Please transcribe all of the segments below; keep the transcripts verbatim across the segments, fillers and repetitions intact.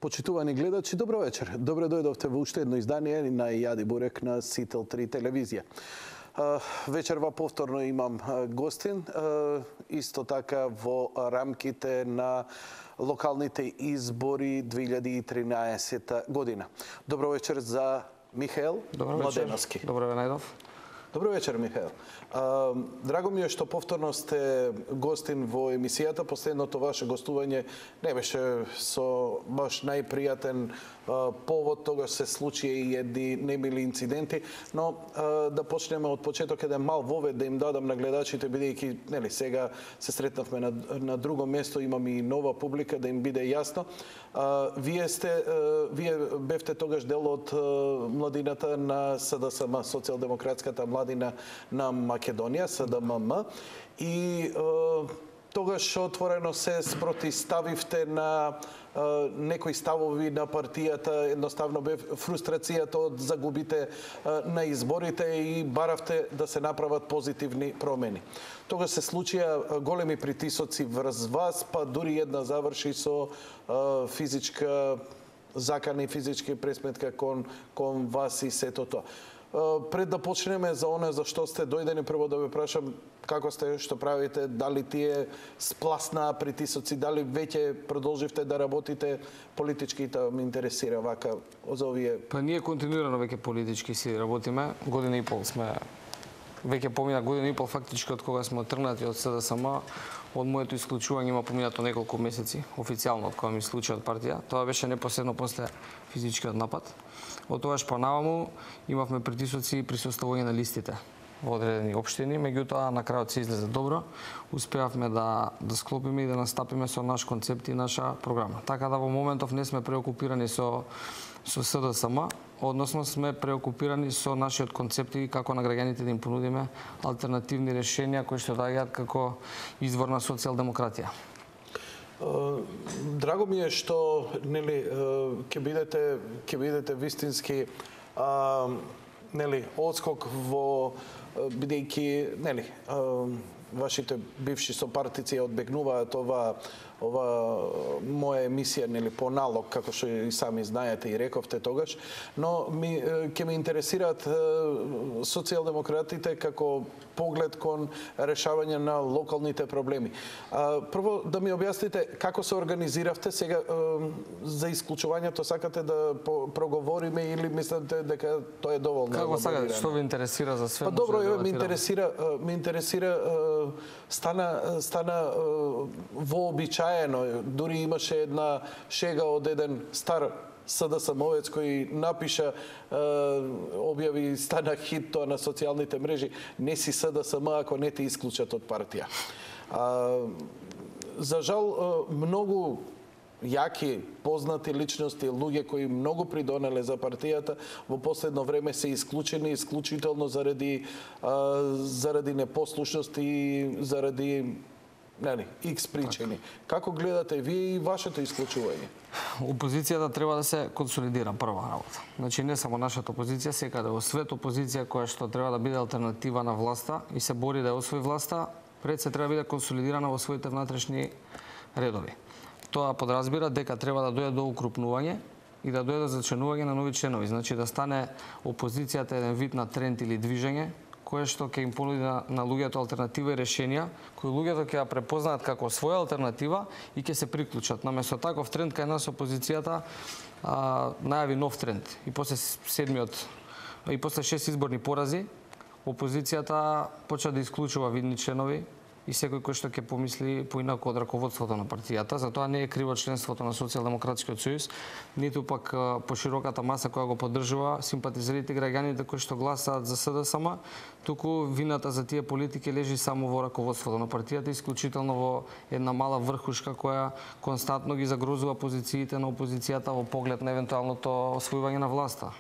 Почитувани гледачи, добро вечер. Добре дојдовте во уште едно издание на Јади Бурек на Сител три телевизија. Вечерва повторно имам гостин, исто така во рамките на локалните избори две илјади и тринаесета година. Добро вечер за Михаел Младеновски. Добро ве најдов. Добро вечер, Михаел. Драго ми е што повторно сте гостин во емисијата. Последното ваше гостување не беше со баш најпријатен повод, тогаш се случи и едни немили инциденти, но да почнеме од почеток еден мал вовед да им дадам на гледачите, бидејќи нели сега се сретнавме на, на друго место, имам и нова публика, да им биде јасно. Вие сте вие бевте тогаш дел од младината на СДСМ, Социјалдемократската младина на Македонија, СДММ, и тогаш отворено се спротиставивте на некои ставови на партијата, едноставно бе фрустрацијата од загубите на изборите и баравте да се направат позитивни промени. Тогаш се случија големи притисоци врз вас, па дури една заврши со физичка закана и физички пресметка кон, кон вас и сето тоа. Пред да почнеме за оне за што сте дојдени, прво да ве прашам како сте, што правите, дали тие спласнаа притисоци, дали веќе продолживте да работите политички, та ме интересира вака за овие. Па ние континуирано веќе политички си работиме, година и пол сме, веќе помина година и пол фактички од кога сме отргнати од СДСМ. Од моето исклучување има поминато неколку месеци, официјално од кога ми исклучи од партија. Тоа беше непосредно после физичкиот напад. Од тогаш понаваму имавме притисоци при составување на листите во одредени општини, меѓутоа на крајот се излезе добро. Успеавме да да склопиме и да настапиме со наш концепт и наша програма. Така да во моментов не сме преокупирани со со СДСМ, односно сме преокупирани со нашиот концепт и како на граѓаните да им понудиме алтернативни решенија кои што доаѓаат како извор на социјалдемократија. Драго ми е што нели ќе бидете ќе бидете вистински а, нели одскок во бидејќи нели а, вашите бивши сопартици одбегнуваат ова ова моја емисија нели по налог, како што и сами знаете и рековте тогаш, но ми ќе ме интересираат социјалдемократите како поглед кон решавање на локалните проблеми. Прво да ми објасните како се организиравте сега за исклучувањето, сакате да проговориме или мислите дека тоа е доволно? Како сакате, што ве интересира за све? Па добро, да ме интересира, ме интересира стана стана вообичаено, дури имаше една шега од еден стар СДСМовец кој напиша, објави, стана хит тоа на социјалните мрежи: не си СДСМ ако не те исклучат од партија. За жал, многу јаки, познати личности, луѓе кои многу придонеле за партијата, во последно време се исклучени, исклучително заради заради непослушност и заради нели, икс причини. Како гледате вие и вашето исклучување? Опозицијата треба да се консолидира, прва работа. Значи не само нашата опозиција, секаде во свет опозиција која што треба да биде алтернатива на власта и се бори да ја освои власта, пред се треба да биде консолидирана во своите внатрешни редови. Тоа подразбира дека треба да дојде до укрупнување и да дојде до зачленување на нови членови. Значи да стане опозицијата еден вид на тренд или движење кое што ќе им понуди на, на луѓето алтернатива и решенија, кои луѓето ќе ја препознаат како своја алтернатива и ќе се приклучат. Наместо таков тренд кај нас опозицијата а, најави нов тренд. И после седмиот и после шест изборни порази, опозицијата почна да исклучува видни членови и секој кој што ќе помисли поинаку од раководството на партијата. Затоа не е криво членството на Социјалдемократскиот сојуз, ниту пак по широката маса која го поддржува симпатизерите граѓаните кои што гласаат за СДСМ, туку вината за тие политики лежи само во раководството на партијата, исклучително во една мала врхушка која константно ги загрозува позициите на опозицијата во поглед на евентуалното освојување на власта.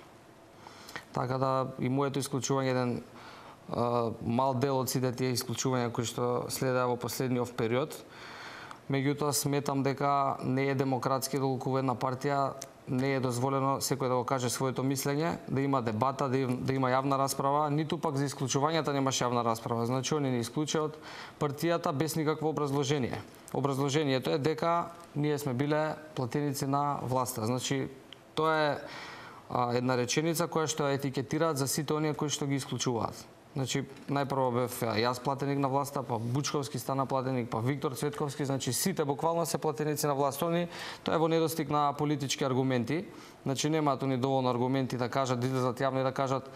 Така да и моето исклучување еден Uh, мал дел од сите тие исклучувања кои што следеа во последниот период. Меѓутоа сметам дека не е демократски доколку една партија не е дозволено секој да го каже своето мислење, да има дебата, да има, да има јавна расправа, ниту пак за исклучувањата немаше јавна расправа. Значи, они не исклучија од партијата без никакво образложение. Образложението е дека ние сме биле платеници на власта. Значи, тоа е а, една реченица која што ја етикетираат за сите оние кои што ги исклучуваат. Значи, најпрво бев јас платеник на власта, па Бучковски стана платеник, па Виктор Цветковски, значи сите буквално се платеници на власта. Они, тоа е во недостиг на политички аргументи. Значи, немаат они доволно аргументи да кажат, да излезат јавно и да кажат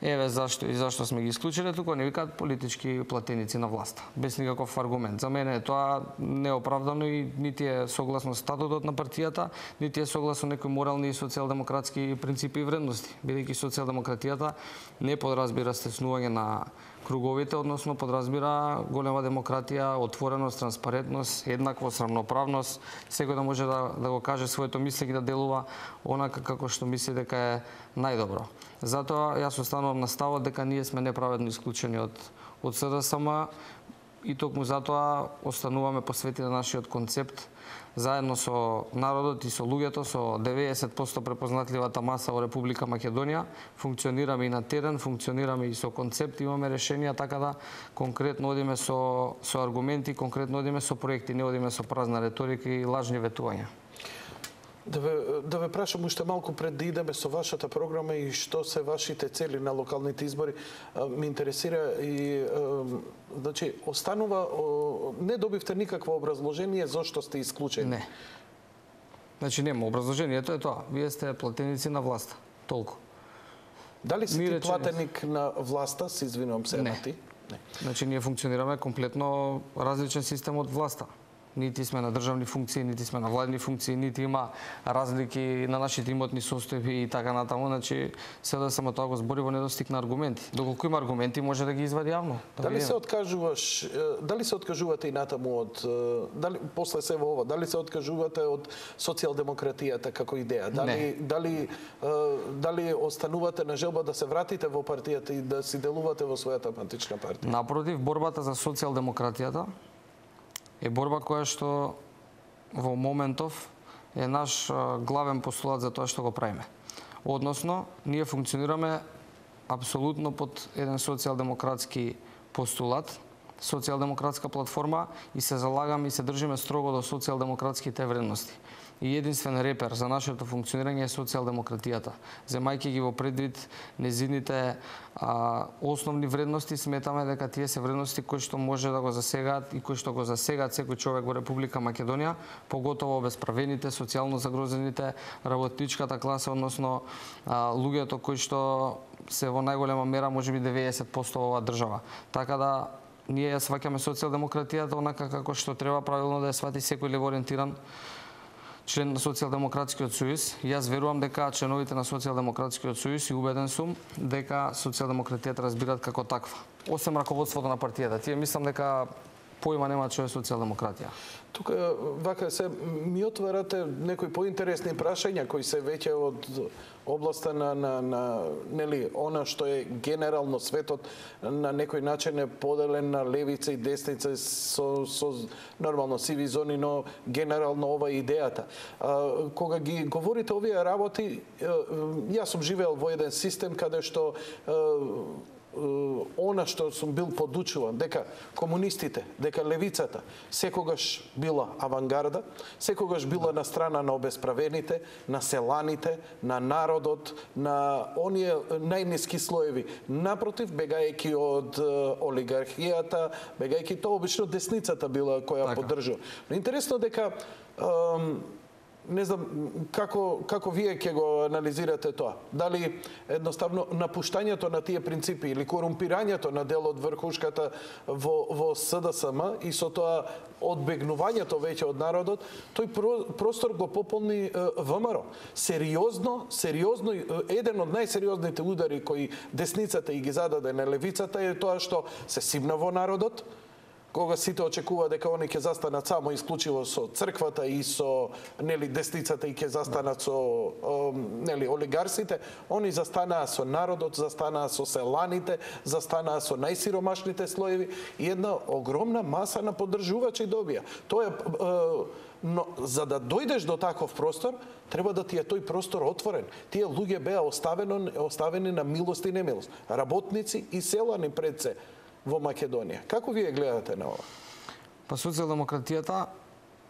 еве зашто и зашто сме ги исклучили, туку не викаат политички платеници на власта, без никаков аргумент. За мене тоа неоправдано и нити е согласно статутот на партијата, нити е согласно некои морални и социјалдемократски принципи и вредности, бидејќи социјалдемократијата не подразбира стеснување на круговите, односно подразбира голема демократија, отвореност, транспарентност, еднаквост, рамноправност, секој да може да, да го каже своето мислење и да делува онака како што мисли дека е најдобро. Затоа јас останувам на ставот дека ние сме неправедно исклучени од од СДСМ и токму затоа остануваме посветени на нашиот концепт заедно со народот и со луѓето, со деветдесет проценти препознатливата маса во Република Македонија. Функционираме и на терен, функционираме и со концепт, имаме решенија, така да конкретно одиме со, со аргументи, конкретно одиме со проекти, не одиме со празна реторика и лажни ветувања. Да ве, да ве прашам уште малку пред да идеме со вашата програма и што се вашите цели на локалните избори. Ме интересира и значи останува не добивте никакво образложение зошто сте исклучени. Не. Значи нема образложението е тоа. Вие сте платеници на власта. Толку. Дали си ти платеник на власта, се извинувам се на ти? Не. Значи ние функционираме комплетно различен систем од власта. Нити сме на државни функции, нити сме на владни функции, нити има разлики на нашите имотни состојби и така натаму. Значи, се да само тоа го збори во недостиг на аргументи. Доколку има аргументи, може да ги извади јавно. Да дали се откажуваш, дали се откажувате и натаму од дали после се во ова, дали се откажувате од социјалдемократијата како идеја? Дали Не. дали дали останувате на желба да се вратите во партијата и да си делувате во својата матична партија? Напротив, борбата за социјалдемократијата е борба која што во моментов е наш главен постулат за тоа што го правиме. Односно, ние функционираме апсолутно под еден социјалдемократски постулат, социјалдемократска платформа и се залагаме и се држиме строго до социјалдемократските вредности. И единствен репер за нашето функционирање е социјалдемократијата. Земајќи ги во предвид незините а, основни вредности, сметаме дека тие се вредности кои што може да го засегаат и кои што го засегаат секој човек во Република Македонија, поготово обесправените, социјално загрозените, работничката класа, односно а, луѓето кои што се во најголема мера можеби деветдесет проценти во оваа држава. Така да ние ја сваќаме социјалдемократијата онака како што треба правилно да ја свати секој левоориентиран член на Социјалдемократскиот сојуз. Јас верувам дека членовите на Социјалдемократскиот сојуз и убеден сум дека социјалдемократијата разбираат како таква. Осем раководството на партијата. Тие мислам дека поима нема што е социјалдемократија. Тука вака се ми отварате некои поинтересни прашања кои се веќе од областа на на на нели она што е генерално светот на некој начин е поделен на левица и десница со со нормално сиви зони, но генерално ова е идејата. А, кога ги говорите овие работи, јас сум живеел во еден систем каде што она што сум бил подучуван, дека комунистите, дека левицата секогаш била авангарда, секогаш била на страна на обесправените, на селаните, на народот, на оние најниски слоеви. Напротив, бегајќи од олигархијата, бегајќи тоа обично десницата била која поддржува. Но интересно дека не знам како како вие ќе го анализирате тоа. Дали едноставно напуштањето на тие принципи или корумпирањето на дел од врхушката во во СДСМ и со тоа одбегнувањето веќе од народот, тој простор го пополни ВМРО. Сериозно, сериозно еден од најсериозните удари кои десницата и ги зададе на левицата е тоа што се симна во народот, кога сите очекува дека они ќе застанат само исклучиво со црквата и со нели десницата и ќе застанат со нели олигарсите, они застанаа со народот, застанаа со селаните, застанаа со најсиромашните слоеви и една огромна маса на поддржувачи добија. Тоа е, но за да дојдеш до таков простор, треба да ти е тој простор отворен. Тие луѓе беа оставени, оставени на милост и немилост. Работници и селани пред се во Македонија. Како вие гледате на ова? Па социјалдемократијата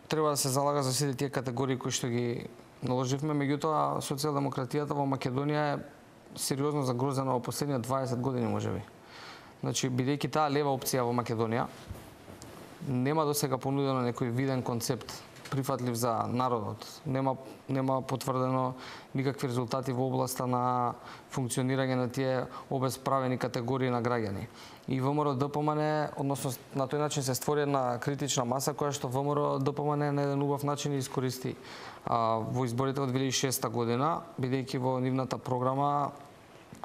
треба да се залага за сите тие категории кои што ги наложивме, меѓутоа социјалдемократијата во Македонија е сериозно загрозена во последните дваесет години можеби. Значи, бидејќи таа лева опција во Македонија, нема досега понудено некој виден концепт прифатлив за народот. Нема нема потврдено никакви резултати во областа на функционирање на тие обесправени категории на граѓани. И ВМРО-ДПМН, односно на тој начин се створи една критична маса која што ВМРО-ДПМН на еден убав начин искористи а, во изборите од две илјади и шеста година, бидејќи во нивната програма,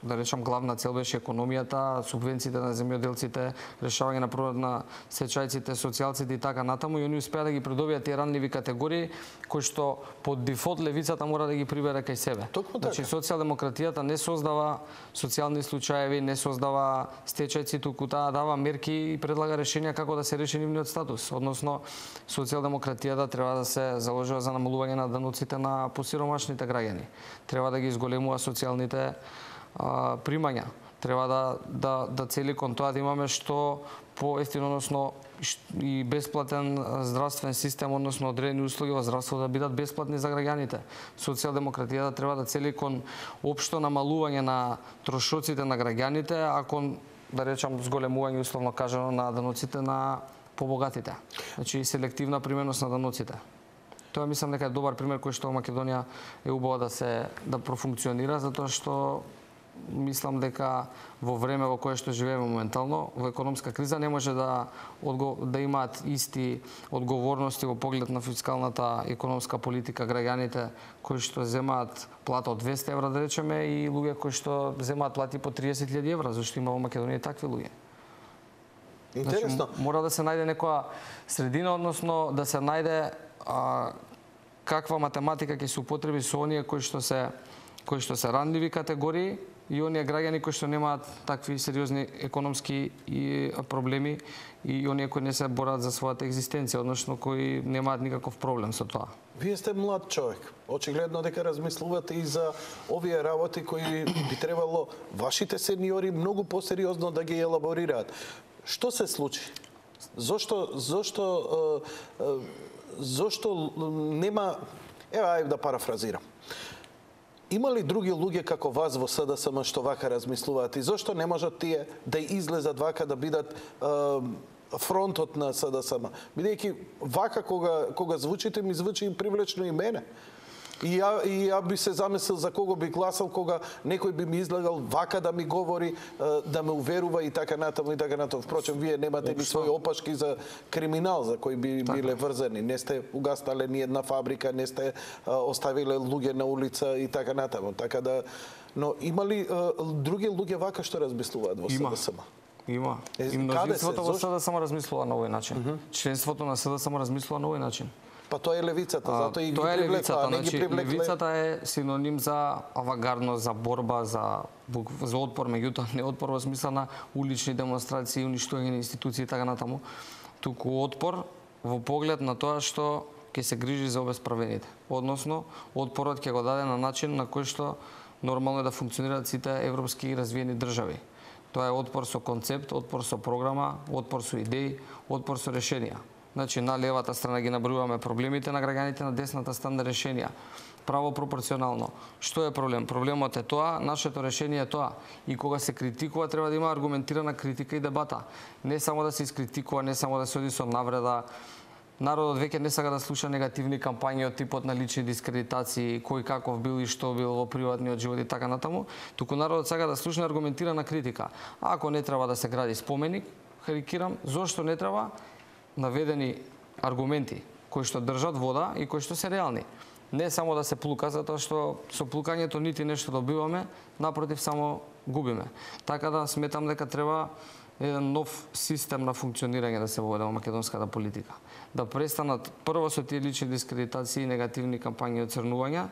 да речам, главна цел беше економијата, субвенциите на земјоделците, решавање на проблемот на сечајците, социјалците и така натаму, и они успеа да ги придобијат тие ранливи категории кои што под дефолт левицата мора да ги прибере кај себе. Токму така. Значи социјалдемократијата не создава социјални случаеви, не создава стечајци, туку таа дава мерки и предлага решенија како да се реши нивниот статус. Односно социјалдемократијата треба да се заложува за намалување на даноците на посиромашните граѓани. Треба да ги изголемува социјалните примања. Треба да, да, да цели кон тоа да имаме што поевтино, односно и бесплатен здравствен систем, односно одредени услуги во здравството да бидат бесплатни за граѓаните. Социјалдемократијата треба да цели кон општо намалување на трошоците на граѓаните, а кон, да речам, зголемување условно кажано на даноците на побогатите. Значи селективна применност на даноците. Тоа мислам дека е добар пример кој што во Македонија е убаво да се да профункционира, затоа што мислам дека во време во кое што живееме моментално, во економска криза, не може да да имаат исти одговорности во поглед на фискалната економска политика граѓаните кои што земаат плата од двесте евра, да речеме, и луѓе кои што земаат плати по триесет илјади евра, зашто има во Македонија такви луѓе. Интересно. Значи, мора да се најде некоја средина, односно да се најде а, каква математика ќе се употреби со оние кои што се кои што се ранливи категории и оние граѓани кои што немаат такви сериозни економски и проблеми и оние кои не се борат за својата екзистенција, односно кои немаат никаков проблем со тоа. Вие сте млад човек. Очигледно дека размислувате и за овие работи кои би требало вашите сениори многу посериозно да ги елаборираат. Што се случи? Зошто зошто зошто нема, ева ајде да парафразирам. Има ли други луѓе како вас во СДСМ што вака размислуваат и зошто не можат тие да излезат вака да бидат е, фронтот на СДСМ? Бидејќи вака кога кога звучите ми звучи привлечно и мене. И ја, и ја би се замислил за кого би гласал кога некој би ми излегал вака да ми говори, да ме уверува и така натаму и така натаму. Впрочем, вие немате ни своји опашки за криминал за кои би биле врзани. Не сте угаснале ни една фабрика, не сте оставиле луѓе на улица и така натаму. Така да, но има ли други луѓе вака што размислуваат во СДСМ? Има. И мнозинството во СДСМ размислува на овој начин. Mm -hmm. Членството на СДСМ размислува на овој начин. Па тоа е левицата, затоа и ги тоа е левицата, не ги значи, привлекле. Левицата е синоним за авангардност, за борба, за за отпор, меѓутоа не отпор во смисла на улични демонстрации, уништување на институции и така натаму, туку отпор во поглед на тоа што ќе се грижи за обесправените. Односно, отпорот ќе го даде на начин на кој што нормално е да функционираат сите европски развиени држави. Тоа е отпор со концепт, отпор со програма, отпор со идеи, отпор со решенија. Значи, на левата страна ги набројуваме проблемите на граѓаните, на десната страна решенија. Право пропорционално. Што е проблем? Проблемот е тоа, нашето решение е тоа. И кога се критикува, треба да има аргументирана критика и дебата. Не само да се искритикува, не само да се оди со навреда. Народот веќе не сака да слуша негативни кампањи од типот на лични дискредитации, кој каков бил и што бил во приватниот живот и така натаму, туку народот сака да слуша аргументирана критика. А ако не треба да се гради споменик, карикирам, зошто не треба наведени аргументи кои што држат вода и кои што се реални. Не само да се плука, затоа што со плукањето нити нешто добиваме, напротив само губиме. Така да сметам дека треба еден нов систем на функционирање да се воведе во македонската политика. Да престанат прво со тие лични дискредитации и негативни кампањи и оцрнувања,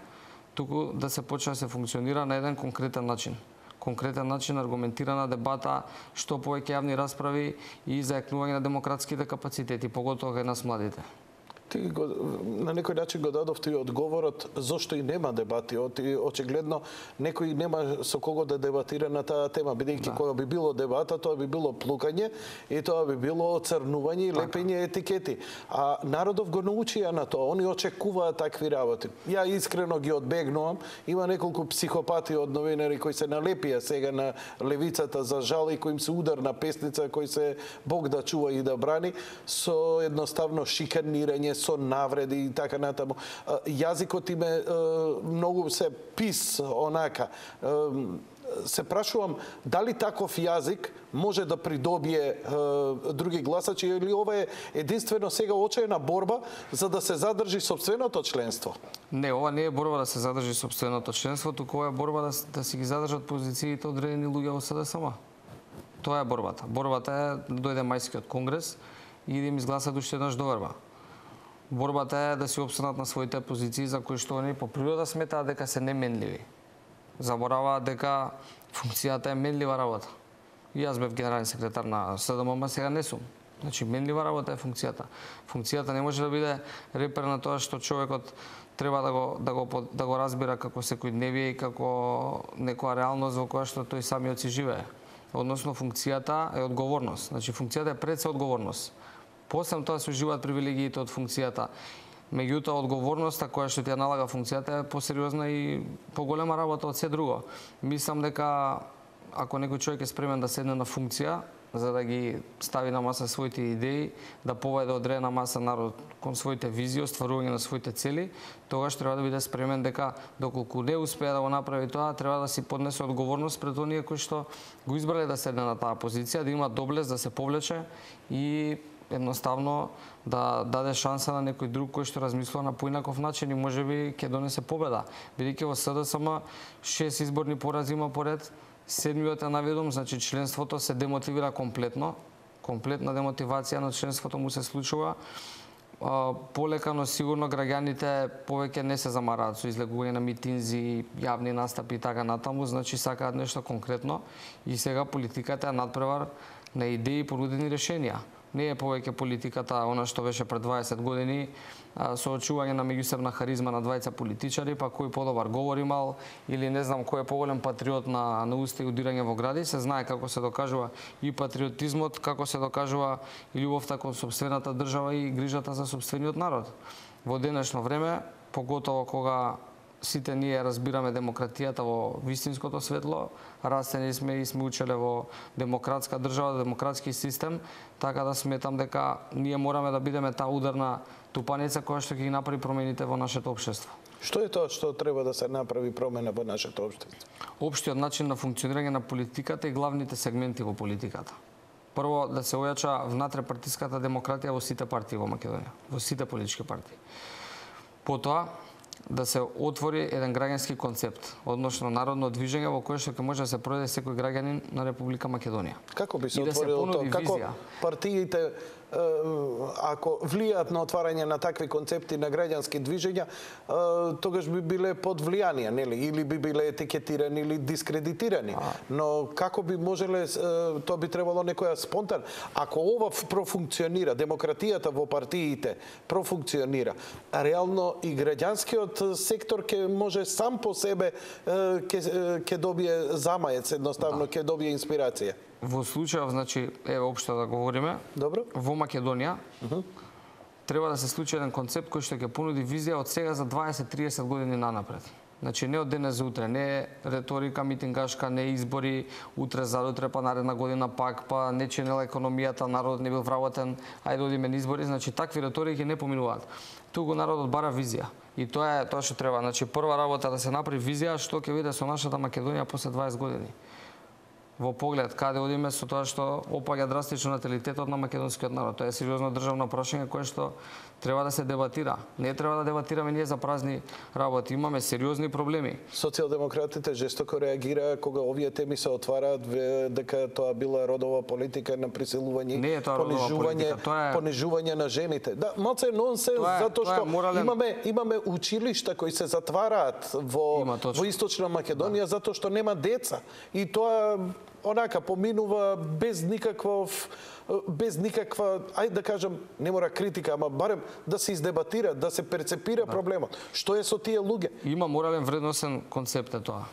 туку да се почне да се функционира на еден конкретен начин. Конкретен начин, аргументирана дебата, што повеќе јавни расправи и зајакнување на демократските капацитети, поготово кај нас младите. Ти го, на некој начин го дадов ти одговорот зошто и нема дебати. Очигледно некој нема со кого да дебатира на таа тема, бидејќи да. Кога би било дебата, тоа би било плукање и тоа би било оцрнување и лепење етикети. А народов го научија на тоа, они очекуваат такви работи. Ја искрено ги одбегнувам. Има неколку психопати од новинари кои се налепија сега на левицата за жал и кои им се ударна песница, кои се Бог да чува и да брани, со едноставно шиканирање, со навреди и така натаму. Јазикот им е многу се пис онака. Се прашувам дали таков јазик може да придобие други гласачи или ова е единствено сега очајна борба за да се задржи сопственото членство? Не, ова не е борба да се задржи сопственото членство, туку ова е борба да, да си ги задржат позициите одредени луѓе во СДСМ. Тоа е борбата. Борбата е да дојде мајскиот конгрес и да им изгласат уште еднаш доверба. Борбата е да си опстанат на своите позиции за кои што они по природа сметаат дека се неменливи. Забораваат дека функцијата е менлива работа. И јас бев генерален секретар на СДМ, сега не сум. Значи, менлива работа е функцијата. Функцијата не може да биде репер на тоа што човекот треба да го, да го, да го разбира како секојдневие и како некоја реалност во која што тој самиот си живее. Односно, функцијата е одговорност. Значи, функцијата е пред се одговорност. После тоа се уживаат привилегиите од функцијата. Меѓутоа, одговорноста која што ти ја налага функцијата е посериозна и поголема работа од се друго. Мислам дека ако некој човек е спремен да седне на функција, за да ги стави на маса своите идеи, да поведе одредена маса народ кон своите визии, остварување на своите цели, тогаш треба да биде спремен дека доколку не успее да го направи тоа, треба да си поднесе одговорност пред оние кои што го избрале да седне на таа позиција, да има доблест да се повлече и едноставно да даде шанса на некој друг кој што размислува на поинаков начин и можеби ќе донесе победа. Бидејќи во СДСМ шест изборни порази има поред, седмиот е наведом, значи членството се демотивира комплетно, комплетна демотивација на членството му се случува. Полека, но сигурно граѓаните повеќе не се замараат со излегување на митинзи, јавни настапи и така натаму, значи сакаат нешто конкретно и сега политиката е надпревар на идеи и понудени решенија. Не е повеќе политиката она што беше пред дваесет години, соочување на меѓусебна харизма на двајца политичари, па кој подобар говор имал или не знам кој е поголем патриот на, на уста и удирање во гради. Се знае како се докажува и патриотизмот, како се докажува и љубовта кон сопствената држава и грижата за сопствениот народ. Во денешно време, поготово кога сите ние разбираме демократијата во вистинското светло, растени сме и сме учеле во демократска држава, демократски систем, така да сметам дека ние мораме да бидеме таа ударна тупаница која што ќе ги направи промените во нашето општество. Што е тоа што треба да се направи промена во нашето општество? Општиот начин на функционирање на политиката и главните сегменти во политиката. Прво, да се ојача внатре-партиската демократија во сите партии во Македонија, во сите политички партии. Потоа, да се отвори еден граѓански концепт, односно народно движење во кое што ќе може да се пројде секој граѓанин на Република Македонија. Како би се отворило тоа? Како партиите ако влијаат на отварање на такви концепти на граѓански движења, тогаш би биле под влијание, нели? Или би биле етикетирани или дискредитирани. Но како би можеле, тоа би требало некоја спонтан. Ако ова профункционира, демократијата во партиите профункционира, реално и граѓанскиот сектор ќе може сам по себе ќе ќе добие замаец, едноставно ќе добие инспирација. Во случајов, значи, еве општо да говориме, добро, во Македонија uh -huh. треба да се случи еден концепт кој што ќе понуди визија од сега за дваесет до триесет години нанапред. Значи не од денес за утре, не е реторика митингашка, не е избори утре задутре, па наредна година пак, па не чинела економијата, народот не бил вработен, ајде одиме на избори, значи такви реторики не поминуваат. Туку народот бара визија. И тоа е тоа што треба. Значи прва работа да се направи визија што ќе биде со нашата Македонија после дваесет години. во поглед каде одиме со тоа што опаѓа драстично наталитетот на македонскиот народ. Тоа е сериозно државно прашање кое што треба да се дебатира. Не треба да дебатираме ние за празни работи. Имаме сериозни проблеми. Социјалдемократите жестоко реагираа кога овие теми се отвараат дека тоа била родова политика на присилување, Не е тоа родова политика, тоа е понижување на жените. Да, малце нонсенс Тоа е- затоа тоа е што морален- имаме имаме училишта кои се затвараат во Има, точно. во Источна Македонија затоа што нема деца. И тоа онака поминува без никаков без никаква, ајде да кажам, не мора критика, ама барем да се издебатира, да се перцепира проблемот. Што е со тие луѓе? Има морален вредносен концепт е тоа.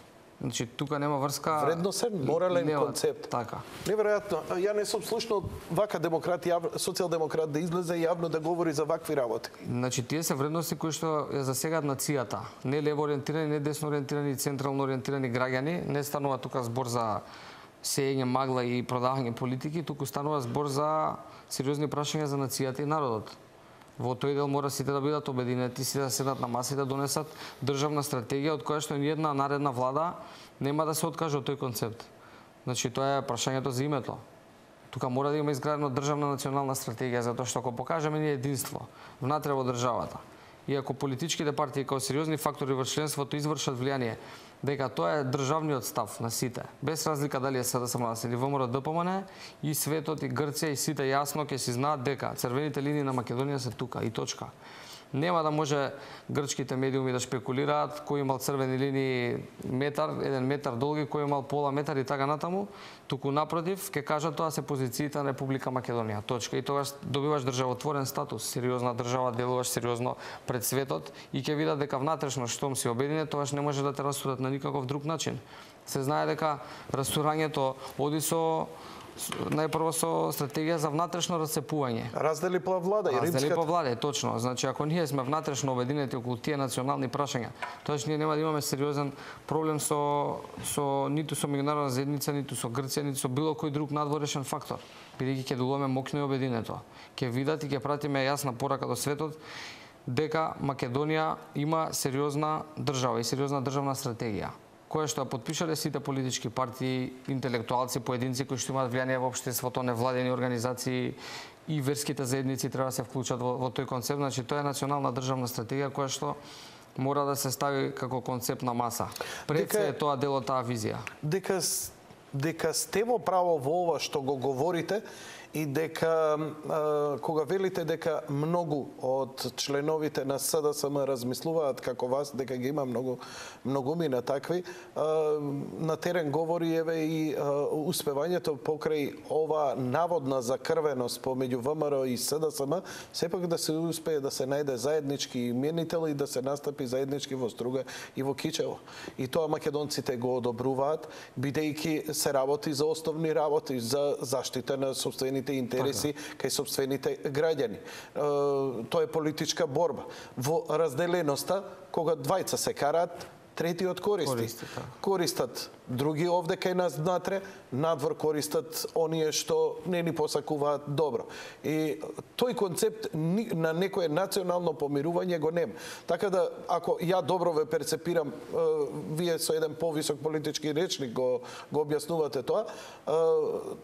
Значи тука нема врска. Вредносен, морален нема- концепт. Така. Неверојатно. Ја не сум слушнал вака демократ, јав, социјалдемократ да излезе јавно да говори за вакви работи. Значи тие се вредности кои што ја засегаат нацијата. Не лево ориентирани, не десно ориентирани, централно ориентирани граѓани. Не станува тука збор за сеење магла и продавање политики, туку станува збор за сериозни прашања за нацијата и народот. Во тој дел мора сите да бидат обединети, сите да седнат на маси да донесат државна стратегија од која што ниедна наредна влада нема да се откаже од тој концепт. Значи тоа е прашањето за името. Тука мора да има изградена државна национална стратегија, затоа што ако покажеме ние единство внатре во државата, и ако политичките партии како сериозни фактори во членството извршат влијание дека тоа е државниот став на сите, без разлика дали е СДСМ или ВМРО-ДПМН, и светот и Грција и сите јасно ќе си знаат дека црвените линии на Македонија се тука и точка. Нема да може грчките медиуми да шпекулираат кој имал црвени линии метар, еден метар долги, кој имал пола метар и така натаму, туку напротив ќе кажат тоа се позициите на Република Македонија. Точка. И тогаш добиваш државотворен статус, сериозна држава, делуваш сериозно пред светот и ќе видат дека внатрешно штом си обединет, тогаш не може да те расудат на никаков друг начин. Се знае дека растурањето оди со најпрво со стратегија за внатрешно расцепување. Раздели по влада и Раздели римската. по влада, точно. Значи ако ние сме внатрешно обединети околу тие национални прашања, тоаш ние нема да имаме сериозен проблем со со ниту со меѓународна заедница, ниту со Грција, ниту со било кој друг надворешен фактор, бидејќи ќе делуваме моќно и обединето. Ќе видат и ќе пратиме јасна порака до светот дека Македонија има сериозна држава и сериозна државна стратегија, која што ја подпишале сите политички партии, интелектуалци, поединци кои што имаат влијание во општеството, невладени организации и верските заедници треба да се вклучат во, во тој концепт. Значи тоа е национална државна стратегија која што мора да се стави како концепт на маса. Пред се е тоа дел од таа визија. Дека дека сте во право во ова што го говорите и дека а, кога велите дека многу од членовите на СДСМ размислуваат како вас, дека ги има многу многумина такви, а, на терен говори еве и а, успевањето покрај ова наводна закрвеност помеѓу ВМРО и СДСМ, сепак да се успее да се најде заеднички именител и да се настапи заеднички во Струга и во Кичево. И тоа македонците го одобруваат, бидејќи се работи за основни работи, за заштита на сопствените интереси кај сопствените граѓани. Тоа е политичка борба. Во разделеноста, кога двајца се караат, третиот користи. Користи, така. Користат други овде кај нас внатре, надвор користат оние што не ни посакуваат добро. И тој концепт на некое национално помирување го нема. Така да, ако ја добро ве перцепирам, вие со еден повисок политички речник го, го објаснувате тоа,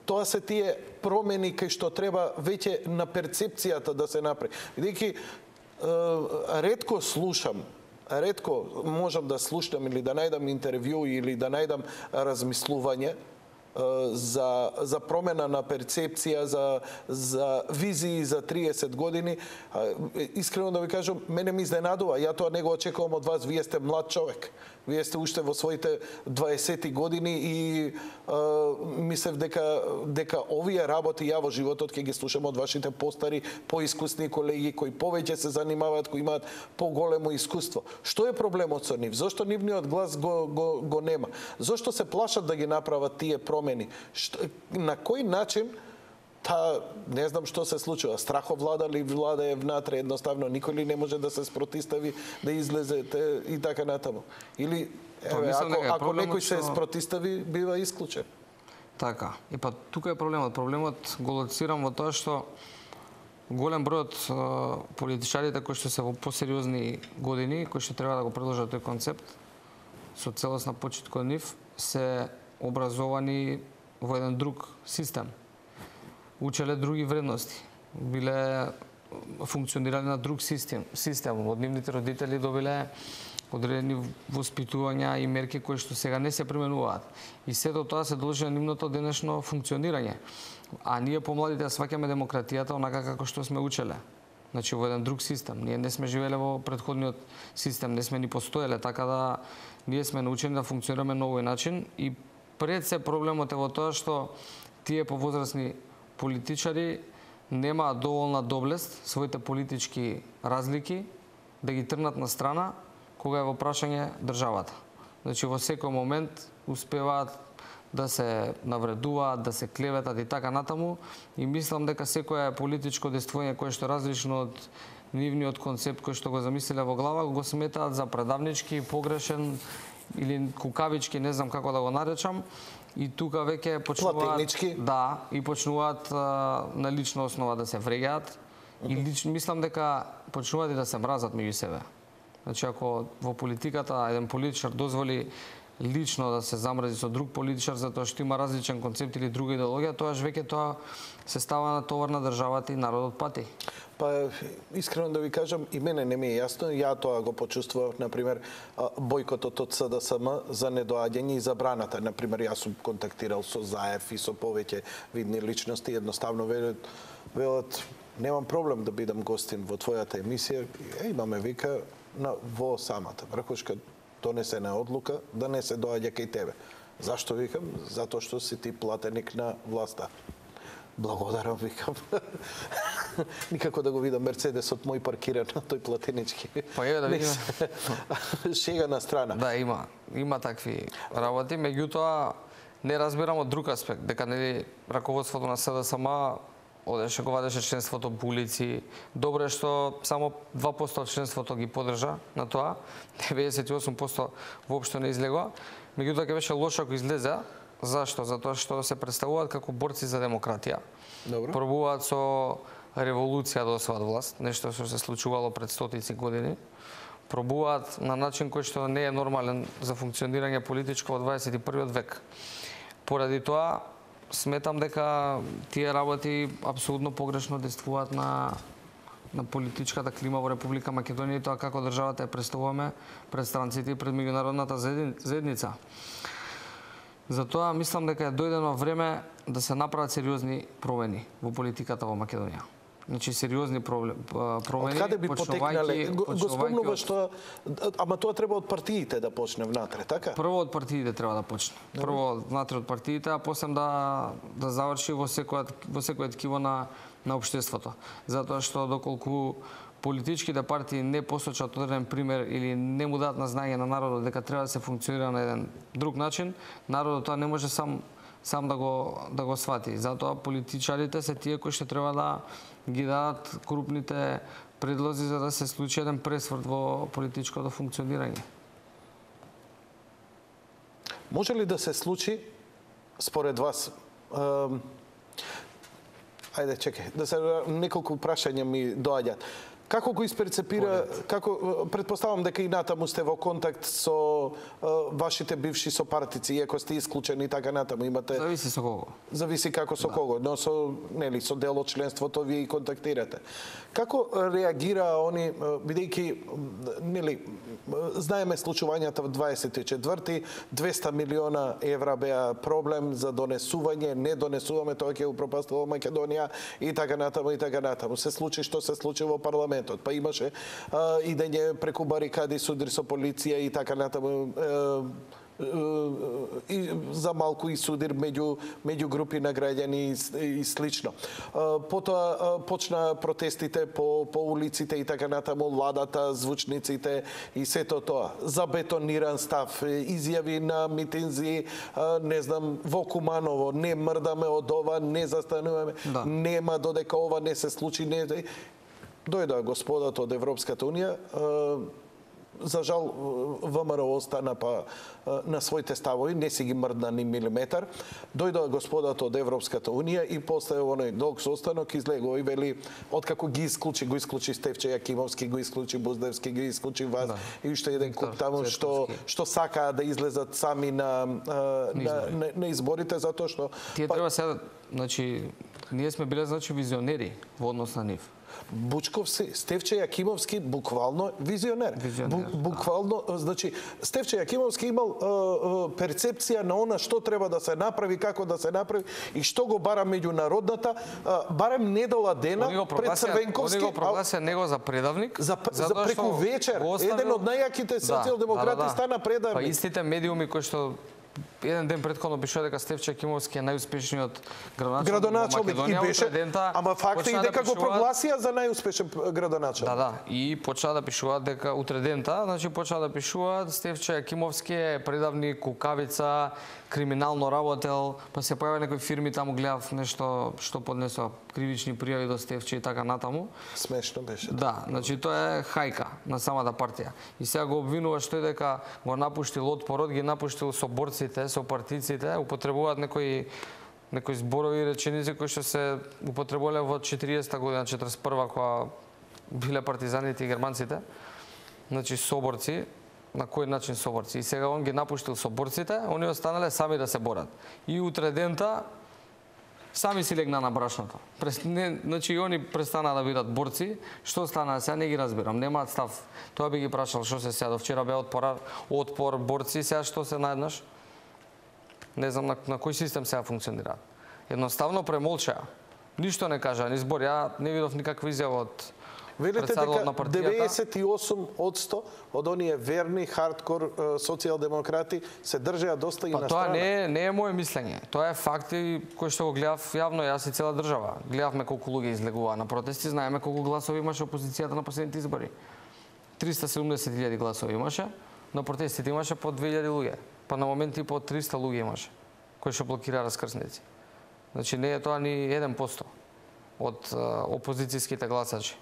тоа се тие промени кај што треба веќе на перцепцијата да се направи. Бидејќи ретко слушам ретко можам да слушам или да најдам интервју или да најдам размислување за за промена на перцепција, за за визии за триесет години. Искрено да ви кажам, мене ми изненадува. Ја тоа не го очекувам од вас. Вие сте млад човек. Вие сте уште во своите дваесети години и а, мислев дека дека овие работи ја во животот ќе ги слушам од вашите постари, поискусни колеги кои повеќе се занимаваат, кои имаат поголемо искуство. Што е проблемот со нив? Зошто нивниот глас го го го нема? Зошто се плашат да ги направат тие промени? Што, на кој начин та не знам што се случува. Страховлада ли влада е внатре, едноставно никој ли не може да се спротистави, да излезе те, и така натаму. Или еве, ако, ако некој се спротистави, бива исклучен. Така. И па тука е проблемот. Проблемот го лоцирам во тоа што голем број од политичарите кои што се во посериозни години, кои што треба да го продолжат тој концепт, со целосна почит кон нив, се образовани во еден друг систем. Учеле други вредности. Биле функционирале на друг систем. Систем. Од нивните родители добиле одредени воспитувања и мерки кои што сега не се применуваат. И сето тоа се должи на нивното денешно функционирање. А ние помладите сваќаме демократијата онака како што сме учеле. Значи во еден друг систем. Ние не сме живеле во претходниот систем, не сме ни постоеле, така да ние сме научени да функционираме на овој начин и пред се проблемот е во тоа што тие повозрасни политичари немаат доволна доблест своите политички разлики да ги трнат на страна кога е во прашање државата. Значи во секој момент успеваат да се навредуваат, да се клеветат и така натаму и мислам дека секое политичко действување кое што е различно од нивниот концепт кој што го замислиле во глава го сметаат за предавнички, погрешен или кукавички, не знам како да го наречам. И тука веќе почнуваат да и почнуваат а, на лична основа да се вреѓаат и лично мислам дека почнуваат и да се мразат меѓу себе. Значи ако во политиката еден политичар дозволи лично да се замрази со друг политичар затоа што има различен концепт или друга идеологија, тоаш веќе тоа се става на товар на државата и народот пати. Па, искрено да ви кажам, и мене не ми е јасно, ја тоа го почувствував, например, бојкотот од С Д С М за недоаѓање и забраната. Например, јас сум контактирал со Заев и со повеќе видни личности, едноставно велат, велат немам проблем да бидам гостин во твојата емисија, е, имаме вика на, во самата врхушка донесена одлука да не се доаѓа кај тебе. Зашто викам? Затоа што си ти платеник на власта. Благодарам, викам. Никако да го видам Мерцедесот мој паркиран на тој платенички. Па еве да видиме. Шега на страна. Да, има. Има такви работи, меѓутоа не разбирам од друг аспект, дека нели раководството на С Д С М одеше го вадеше членството по улици. Добро е што само два проценти од членството ги подржа на тоа, деветдесет и осум проценти воопшто не излегоа. Меѓутоа ќе беше лошо ако излезе. Зашто? Затоа што се представуваат како борци за демократија. Добро. Пробуваат со револуција да освојат власт, нешто што се случувало пред стотици години. Пробуваат на начин кој што не е нормален за функционирање политичко во дваесет и првиот век. Поради тоа сметам дека тие работи апсолутно погрешно действуваат на на политичката клима во Република Македонија и тоа како државата ја представуваме пред странците и пред меѓународната заедница. Затоа мислам дека е дојдено време да се направат сериозни промени во политиката во Македонија. Значи сериозни промени. Од каде би потекнале? Го спомнува што ама тоа треба од партиите да почне внатре, така? Прво од партиите треба да почне. Прво внатре од партиите, а после да да заврши во секој во секој ткиво на на општеството. Затоа што доколку политичките партии не посочат одреден пример или не му дадат на знаење на народот дека треба да се функционира на еден друг начин, народот тоа не може сам сам да го да го свати. Затоа политичарите се тие кои што треба да ги дадат крупните предлози за да се случи еден пресврт во политичкото функционирање. Може ли да се случи според вас? Ем, ајде, чекај, да се неколку прашања ми доаѓаат. Како го исперцепира, како претпоставам дека и натаму сте во контакт со uh, вашите бивши сопартици, иако сте исклучени и така натаму имате. Зависи со кого. Зависи како со да. кого, но со нели со дел од членството вие и контактирате. Како реагира они бидејќи нели знаеме случувањата во дваесет и четврти, двесте милиона евра беа проблем за донесување, не донесуваме, тоа ќе упропастило Македонија и така натаму и така натаму. Се случи што се случи во парламент. Па имаше а, идење преку барикади, судир со полиција и така натаму, е, е, и за малку и судир меѓу меѓу групи на граѓани и, и слично. А, потоа а, почна протестите по по улиците и така натаму, ладата, звучниците и сето тоа. Забетониран став, изјави на митинзи, а, не знам, во Куманово, не мрдаме од ова, не застануваме, да. Нема додека ова не се случи, не. Дојдоа господата од Европската Унија, за жал ВМРО остана па на своите ставови, не си ги мрдна ни милиметар. Дојдоа господата од Европската унија и после оној долг состанок излегува и вели откако ги исклучи, го исклучи Стефче Јакимовски, го исклучи Буздевски, ги исклучи вас да. И уште еден куп таму што што сакаа да излезат сами на на, на, на изборите затоа што тие па... треба сега, значи ние сме биле значи визионери во однос на нив. Бучковски, Стефче Јакимовски буквално визионер. визионер Бу, буквално, да. Значи, Стефче Јакимовски имал е, е, перцепција на она што треба да се направи, како да се направи и што го бара меѓународната, е, барем недела дена пред Црвенковски. Они го прогласија него за предавник. За, за преку вечер. Оставил... Еден од најаките социјалдемократи да, да, да. стана предавник. Па истите медиуми кои што еден ден претходно пишува дека Стефче Јакимовски е најуспешниот градоначалник, градоначалник во Македонија, и беше, ама факт е и дека да го прогласија за најуспешен градоначалник. Да, да, и почна да пишуваат дека утре дента, значи почна да пишуваат Стефче Јакимовски е предавник, кукавица, криминално работел, па се појави некои фирми таму, гледав нешто што поднесоа кривични пријави до Стефче и така натаму. Смешно беше. Да, значи тоа е хајка на самата партија. И сега го обвинува што е дека го напуштил отпорот, ги напуштил со борците, со партиците, употребуваат некои некои зборови и реченици кои што се употребувале во четириесетта година, четиридесет и прва кога биле партизаните и германците. Значи соборци, на кој начин соборци. И сега он ги напуштил соборците, они останале сами да се борат. И утре дента сами си легна на брашното. Не, значи и они престанаа да бидат борци. Што стана сега не ги разбирам. Немаат став. Тоа би ги прашал што се сега. До вчера бе отпор, отпор борци, сега што се наеднаш? Не знам на, на кој систем сега функционираат. Едноставно премолчаа. Ништо не кажа, ни збор. Ја не видов никаква изјава од велите дека деветдесет и осум одсто од оние верни хардкор социјалдемократи се држеа доста и па, на страна. Тоа не е, не е моје мислење. Тоа е факти кои што го гледав јавно, јас и цела држава. Гледавме колку луѓе излегуваа на протести, знаеме колку гласови имаше опозицијата на последните избори. триста и седумдесет илјади гласови имаше, на протестите имаше по две илјади луѓе. Па на моменти по триста луѓе имаше кои што блокираа раскрсници. Значи не е тоа ни еден процент од опозицијските гласачи.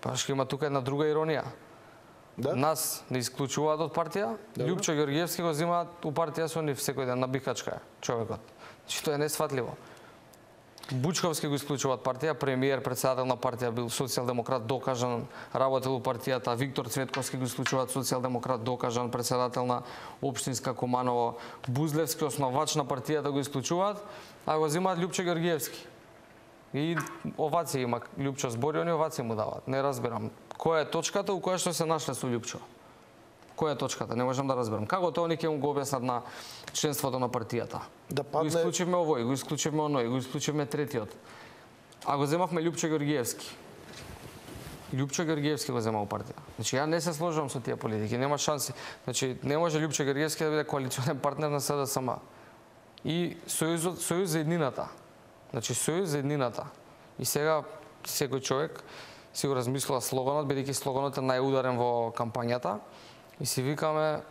Па што има тука една друга иронија. Да? Нас не исклучуваат од партија, Добре. Љупчо Ѓорѓиевски го земаат у партија со нив секој ден на бикачка човекот. Значи тоа е несфатливо. Бучковски го исклучуваат партија, премиер, председател на партија бил социјалдемократ докажан, работел у партијата, Виктор Цветковски го исклучуваат социјалдемократ докажан, председател на општинска Куманово, Бузлевски основач на партијата го исклучуваат, а го земаат Љупчо Ѓорѓиевски. И оваци има Љупчо збори, они оваци му даваат. Не разбирам. Која е точката у која што се нашле со Љупчо? Која е точката? Не можам да разберам. Како тоа они ќе му го објаснат на членството на партијата? Да падне... Го исклучивме овој, го исклучивме оној, го исклучивме третиот. А го земавме Љупчо Ѓорѓиевски. Љупчо Ѓорѓиевски го зема у партија. Значи ја не се сложувам со тие политики, нема шанси. Значи не може Љупчо Ѓорѓиевски да биде коалиционен партнер на СДСМ. И Сојузот, Сојуз за еднината. Значи, Сојуз за еднината. И сега секој човек си го размислува слоганот, бидејќи слоганот е најударен во кампањата, и си викаме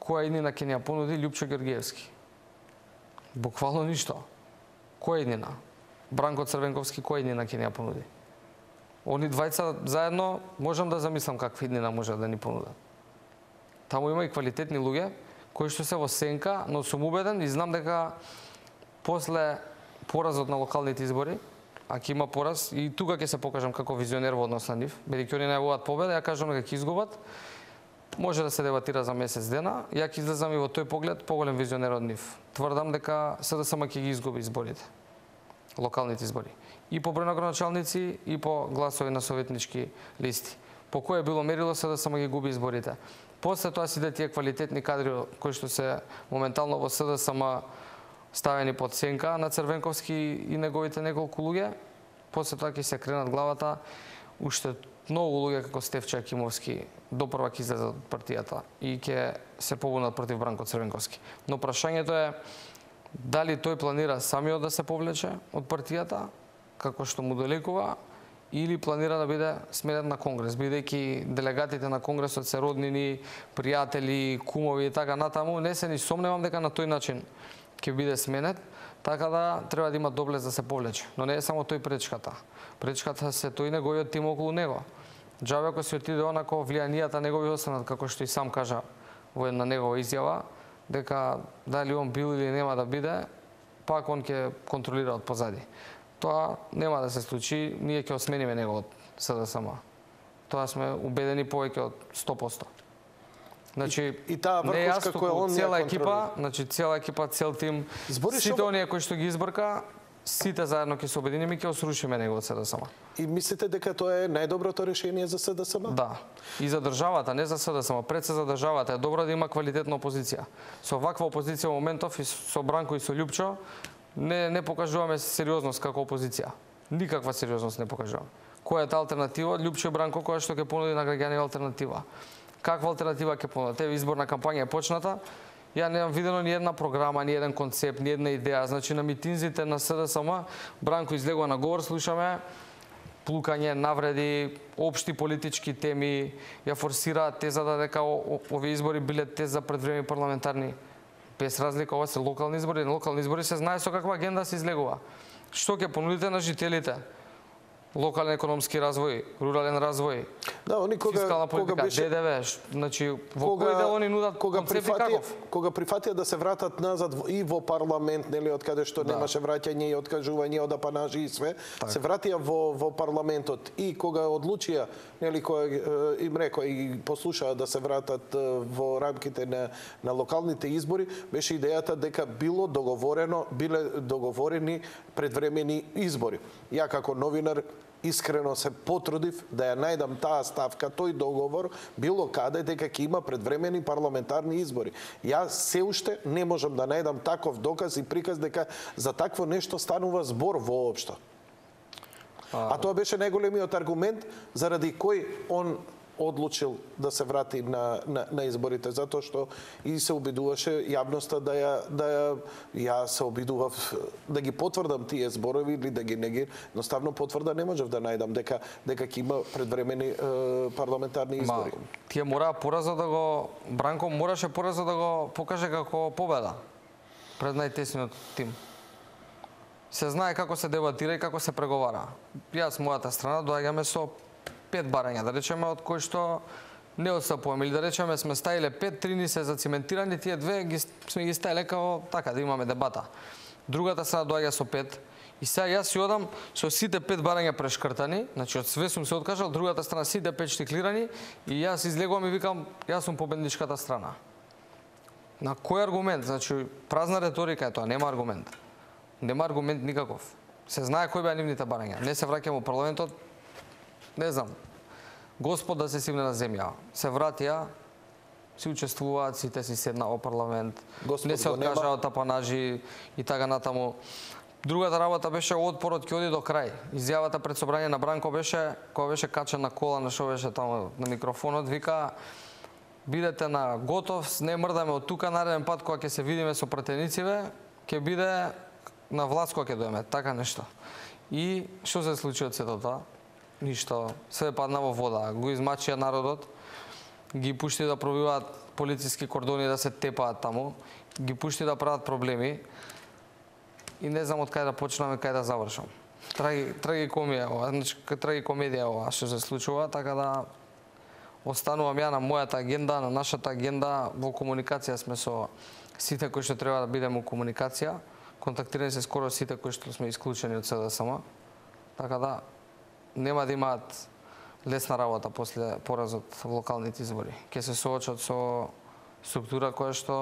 која еднина ќе ни ја понуди Љупчо Ѓорѓиевски. Буквално ништо. Која еднина? Бранко Црвенковски која еднина ќе ни ја понуди? Они двајца заедно можам да замислам каква еднина може да ни понудат. Таму има и квалитетни луѓе кои што се во сенка, но сум убеден и знам дека после поразот на локалните избори, а ќе има пораз, и тука ќе се покажам како визионер во однос на нив, бидејќи они најавуваат победа, ја кажам дека ќе изгубат, може да се дебатира за месец дена, ја ќе излезам и во тој поглед поголем визионер од нив. Тврдам дека СДСМ ќе ги изгуби изборите, локалните избори. И по број на градоначалници, и по гласови на советнички листи. По кое било мерило СДСМ ги губи изборите. После тоа си да тие квалитетни кадри кои што се моментално во СДСМ ставени под сенка на Црвенковски и неговите неколку луѓе, после тоа ќе се кренат главата уште многу луѓе како Стефче Јакимовски допрва ќе излезат од партијата и ќе се побунат против Бранко Црвенковски. Но прашањето е дали тој планира самиот да се повлече од партијата, како што му долекува, или планира да биде сменет на Конгрес, бидејќи делегатите на Конгресот се роднини, пријатели, кумови и така натаму, не се ни сомневам дека на тој начин ќе биде сменет, така да треба да има доблест да се повлече. Но не е само тој пречката. Пречката се тој неговиот тим околу него. Џабе ако си отиде онако влијанијата негови останат, како што и сам кажа во една негова изјава, дека дали он бил или нема да биде, пак он ќе контролира од позади. Тоа нема да се случи, ние ќе осмениме него од СДСМ. Тоа сме убедени повеќе од сто проценти. Значи, и, и таа врхушка која он цела екипа, значи цела екипа, цел тим, Збориш сите ова... оние кои што ги избрка, сите заедно ќе се обединиме и ќе осрушиме него од СДСМ. И мислите дека тоа е најдоброто решение за СДСМ? Да. И за државата, не за СДСМ, пред се за државата е добро да има квалитетна опозиција. Со ваква опозиција во моментов и со Бранко и со Лјупчо не не покажуваме сериозност како опозиција. Никаква сериозност не покажуваме. Која е таа алтернатива? Лјупчо и Бранко која што ќе понуди на граѓани алтернатива. Каква алтернатива ќе понудат? Еве изборна кампања е почната. Ја немам видено ни една програма, ни еден концепт, ни една идеја. Значи на митинзите на СДСМ Бранко излегува на говор, слушаме плукање, навреди, општи политички теми, ја форсираат тезата дека овие избори биле теза предвремени парламентарни. Без разлика, ова се локални избори, на локални избори се знае со каква агенда се излегува. Што ќе понудите на жителите? Локален економски развој, рурален развој, да, они кога, фискална политика, кога беше... ДДВ, значи во кога, кој дел они нудат кога концепти прифатија, каков? Кога прифатија да се вратат назад и во парламент, нели, од каде што да. немаше враќање и откажување од апанажи и све, так. се вратија во, во парламентот и кога одлучија, нели, која им рекоа и послушаа да се вратат во рамките на, на локалните избори, беше идејата дека било договорено, биле договорени предвремени избори. Ја како новинар искрено се потрудив да ја најдам таа ставка, тој договор, било каде дека ќе има предвремени парламентарни избори. Јас се уште не можам да најдам таков доказ и приказ дека за такво нешто станува збор воопшто. А, а тоа беше најголемиот аргумент заради кој он одлучил да се врати на, на, на изборите, затоа што и се обидуваше јавноста да ја, да ја, ја се обидував да ги потврдам тие зборови или да ги не ги, едноставно потврда не можев да најдам дека дека ќе има предвремени е, парламентарни избори. Ма, тие мора пораза да го Бранко мораше пораза да го покаже како победа пред најтесниот тим. Се знае како се дебатира и како се преговара. Јас мојата страна доаѓаме со пет барања, да речеме, од кои што не отстапуваме, или да речеме сме ставиле пет, три ни се зациментирани, тие две ги, сме ги ставиле како така да имаме дебата. Другата сега доаѓа со пет и сега јас си одам со сите пет барања прешкртани, значи од све сум се откажал, другата страна сите пет штиклирани и јас излегувам и викам јас сум победничката страна. На кој аргумент? Значи празна реторика е тоа, нема аргумент. Нема аргумент никаков. Се знае кои беа нивните барања. Не се враќаме во парламентот. Не знам, Господ да се симне на земја. Се вратија, си учествуваат, сите си седна во парламент, Господ не се откажа од апанажи и така натаму. Другата работа беше отпорот ќе оди до крај. Изјавата пред собрање на Бранко беше, кога беше качен на кола, на шо беше таму на микрофонот, вика бидете на готов, не мрдаме од тука, нареден пат кога ќе се видиме со пратенициве, ќе биде на власт кога ќе доеме, така нешто. И што се случи од сето тоа? Ништо, све падна во вода, го измачија народот, ги пушти да пробиваат полициски кордони да се тепаат таму, ги пушти да прават проблеми и не знам од кај да почнам и кај да завршам. Траги, трагикомија ова, значи трагикомедија ова што се случува, така да останувам ја на мојата агенда, на нашата агенда, во комуникација сме со сите кои што треба да бидеме во комуникација, контактирани се скоро сите кои што сме исклучени од СДСМ, така да нема да имаат лесна работа после поразот во локалните избори. Ќе се соочат со структура која што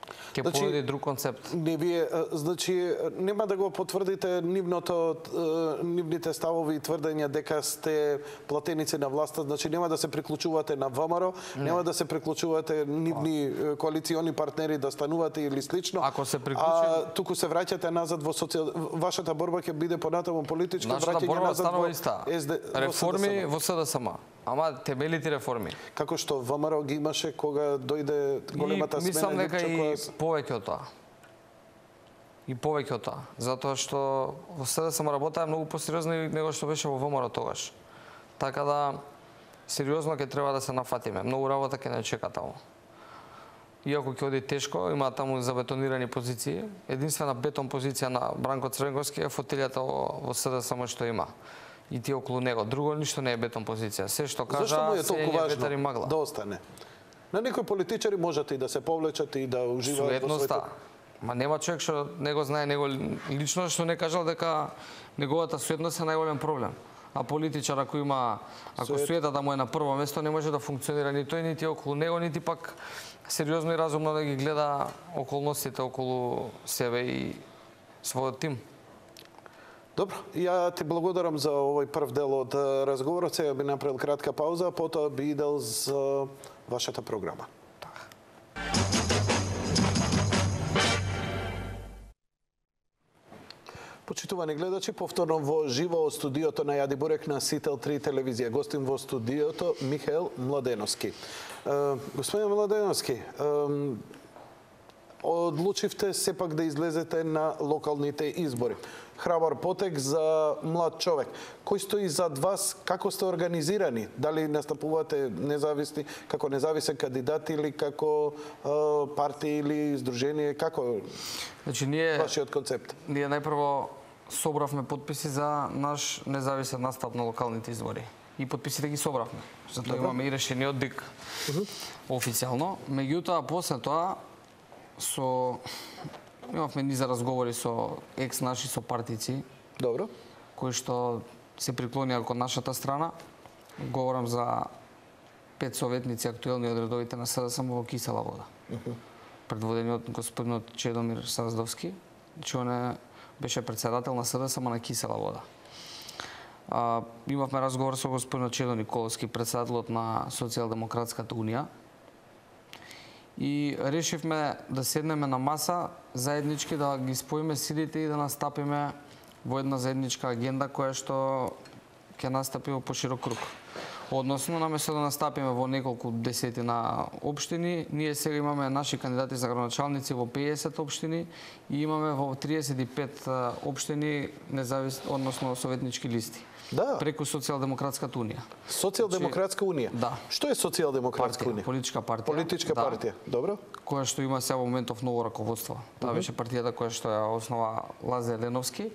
ќе значи, понуди друг концепт. Не вие, значи, нема да го потврдите нивното, нивните ставови и тврдења дека сте платеници на власта, значи нема да се приклучувате на ВМРО, не. нема да се приклучувате нивни коалициони партнери да станувате или слично. Ако се приклучи, а туку се враќате назад во социјал... вашата борба ќе биде понатаму политичка, враќање назад во СД... реформи во СДСМ. Ама темелите реформи. Како што ВМРО ги имаше кога дојде големата смена. Мислам дека и повеќе од тоа. И повеќе од тоа. Затоа што во СДСМ работа е многу посериозно него што беше во ВМРО тогаш. Така да, сериозно ќе треба да се нафатиме. Многу работа ќе не чека таму. Иако ќе оди тешко, има таму забетонирани позиции. Единствена бетон позиција на Бранко Црвенковски е фотелјата во СДСМ што има. и тие околу него. Друго ништо не е бетон позиција. Се што кажа, Зашто му е се толку е ветар и важно магла. да остане? На некои политичари можат и да се повлечат и да уживаат во Суетноста. своето... Ма нема човек што не го знае него лично, што не кажал дека неговата суетност е најголем проблем. А политичар ако има, ако Сует... суетата му е на прво место, не може да функционира ни тој, нити околу него, нити пак сериозно и разумно да ги гледа околностите околу себе и својот тим. Добро, ја ти благодарам за овој прв дел од разговорот. Сега би направил кратка пауза, а потоа би идел за вашата програма. Почитувани гледачи, повторно во живо од студиото на Јади Бурек на Сител три телевизија. Гостим во студиото Михаел Младеновски. Господин Младеновски, одлучивте сепак да излезете на локалните избори. Храбар потек за млад човек. Кој стои зад вас? Како сте организирани? Дали настапувате независни, како независен кандидат или како е, партија или здружение? Како Значи, ние, вашиот концепт? Ние најпрво собравме подписи за наш независен настап на локалните избори. И подписите ги собравме. Затоа имаме и решениот ДИК. Uh -huh. Официјално. Меѓутоа, после тоа, со имавме низа разговори со екс наши сопартици. Добро. Кои што се приклонија кон нашата страна. Говорам за пет советници актуелни од редовите на СДСМ во Кисела вода. Uh -huh. Предводени од господинот Чедомир Саздовски, че он беше председател на СДСМ на Кисела вода. А, имавме разговор со господинот Чедо Николовски, председателот на Социјалдемократската унија. И решивме да седнеме на маса, заеднички да ги споиме силите и да настапиме во една заедничка агенда која што ќе настапи во поширок круг. Односно, наместо да настапиме во неколку десетина општини, ние сега имаме наши кандидати за градоначалници во педесет општини и имаме во триесет и пет општини независни, односно советнички листи. Да. Преку Социјалдемократската унија. Социјалдемократска унија? Да. Што е Социјалдемократска Партија, унија? политичка партија. Политичка да, партија, добро. Која што има сега во моментов ново раководство. Таа беше партијата која што ја основа Лазар Леновски.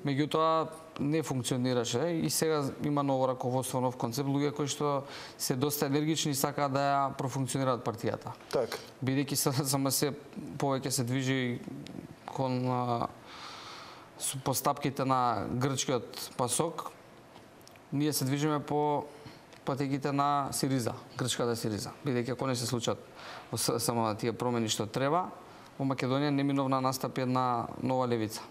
Меѓутоа не функционираше и сега има ново раководство, нов концепт, луѓе кои што се доста енергични и сакаат да ја профункционираат партијата. Така. Бидејќи само се повеќе се движи кон а, постапките на грчкиот пасок, ние се движиме по патеките на Сириза, грчката Сириза. Бидејќи ако не се случат само тие промени што треба, во Македонија неминовна настапи една нова левица.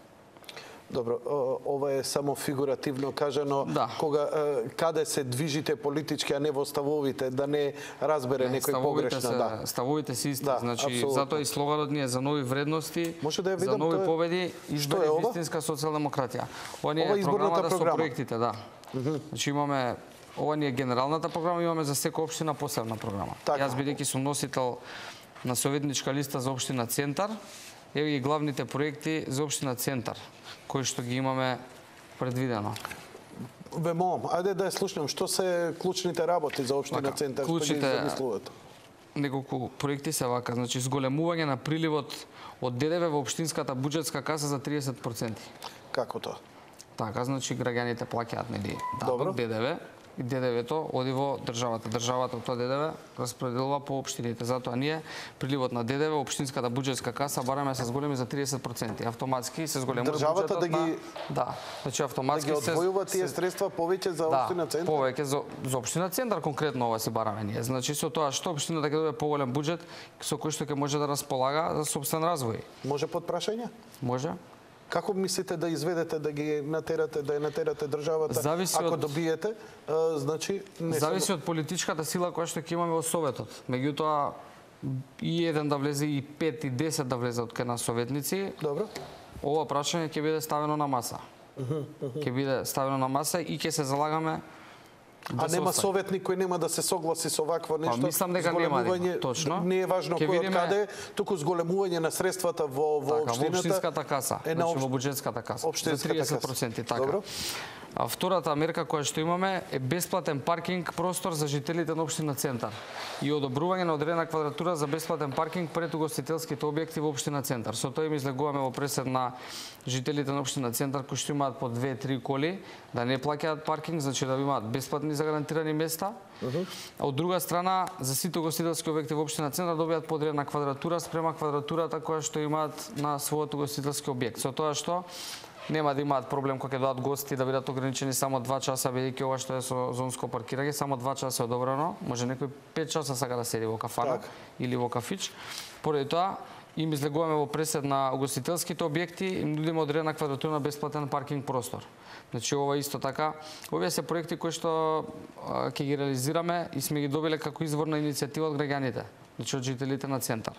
Добро, ова е само фигуративно кажано, да. Кога каде се движите политички, а не во ставовите, да не разбере не, некој погрешно, се, да. Ставовите се исти, да, значи абсолютно. затоа и слоганот ни е за нови вредности, Може да ја видам, за нови тоа е... победи, избори вистинска социјалдемократија. Ова ни е програмата програма. со проектите, да. Uh -huh. Значи имаме ова ни е генералната програма, имаме за секоја општина посебна програма. Така. Јас бидејќи сум носител на советничка листа за општина Центар, еве и главните проекти за општина Центар, кои што ги имаме предвидено. Ве молам, ајде да ја слушнем, што се клучните работи за општина Така, Центар, клучните... што ги замислувате? Неколку проекти се вака, значи зголемување на приливот од ДДВ во општинската буџетска каса за триесет проценти. Како тоа? Така, значи граѓаните плаќаат нели Добро. ДДВ и ДДВ-то оди во државата. Државата од тоа ДДВ распределува по општините. Затоа ние приливот на ДДВ во општинската буџетска каса бараме се зголеми за триесет проценти. Автоматски се зголемува државата буџетот да ги на... Да, значи автоматски да ги одвојува тие средства повеќе за општина да, Центар? повеќе за, за општина Центар конкретно ова си бараме ние. Значи со тоа што општината ќе добие поголем буџет со кој што ќе може да располага за сопствен развој. Може под прашање? Може. Како мислите да изведете, да ги натерате, да ја натерате државата, Зависи ако од... добиете, а, значи... Не Зависи само... од политичката сила која што ќе имаме во Советот. Меѓутоа, и еден да влезе, и пет, и десет да влезе од кај нас советници, Добро. ова прашање ќе биде ставено на маса. Ќе биде ставено на маса и ќе се залагаме да А се нема остави. советник кој нема да се согласи со вакво нешто? Па, мислам дека нема да има, Зголемување- точно. Не е важно Ќе кој од видиме- каде, туку зголемување на средствата во во Така, во општината. општинската каса, е на значи опш- во буџетската каса. За општинската триесет проценти, каса. така. Добро. А втората мерка која што имаме е бесплатен паркинг простор за жителите на општина Центар и одобрување на одредена квадратура за бесплатен паркинг пред угостителските објекти во општина Центар. Со тоа им излегуваме во пресед на жителите на општина Центар кои што имаат по две-три коли да не плаќаат паркинг, значи да имаат бесплатни загарантирани места. Uh-huh. А од друга страна, за сите угостителски објекти во општина Центар добијат по одредена квадратура спрема квадратурата која што имаат на својот угостителски објект. Со тоа што нема да имаат проблем кога ќе доаат гости да бидат ограничени само два часа, бидејќи ова што е со зонско паркирање, само два часа е одобрено. Може некој пет часа сака да седи во кафана так. Или во кафич. Поради тоа, им излегуваме во пресед на угостителските објекти, им нудиме одредена квадратура на бесплатен паркинг простор. Значи ова исто така, овие се проекти кои што ќе ги реализираме и сме ги добиле како изворна иницијатива од граѓаните, значи од жителите на Центар.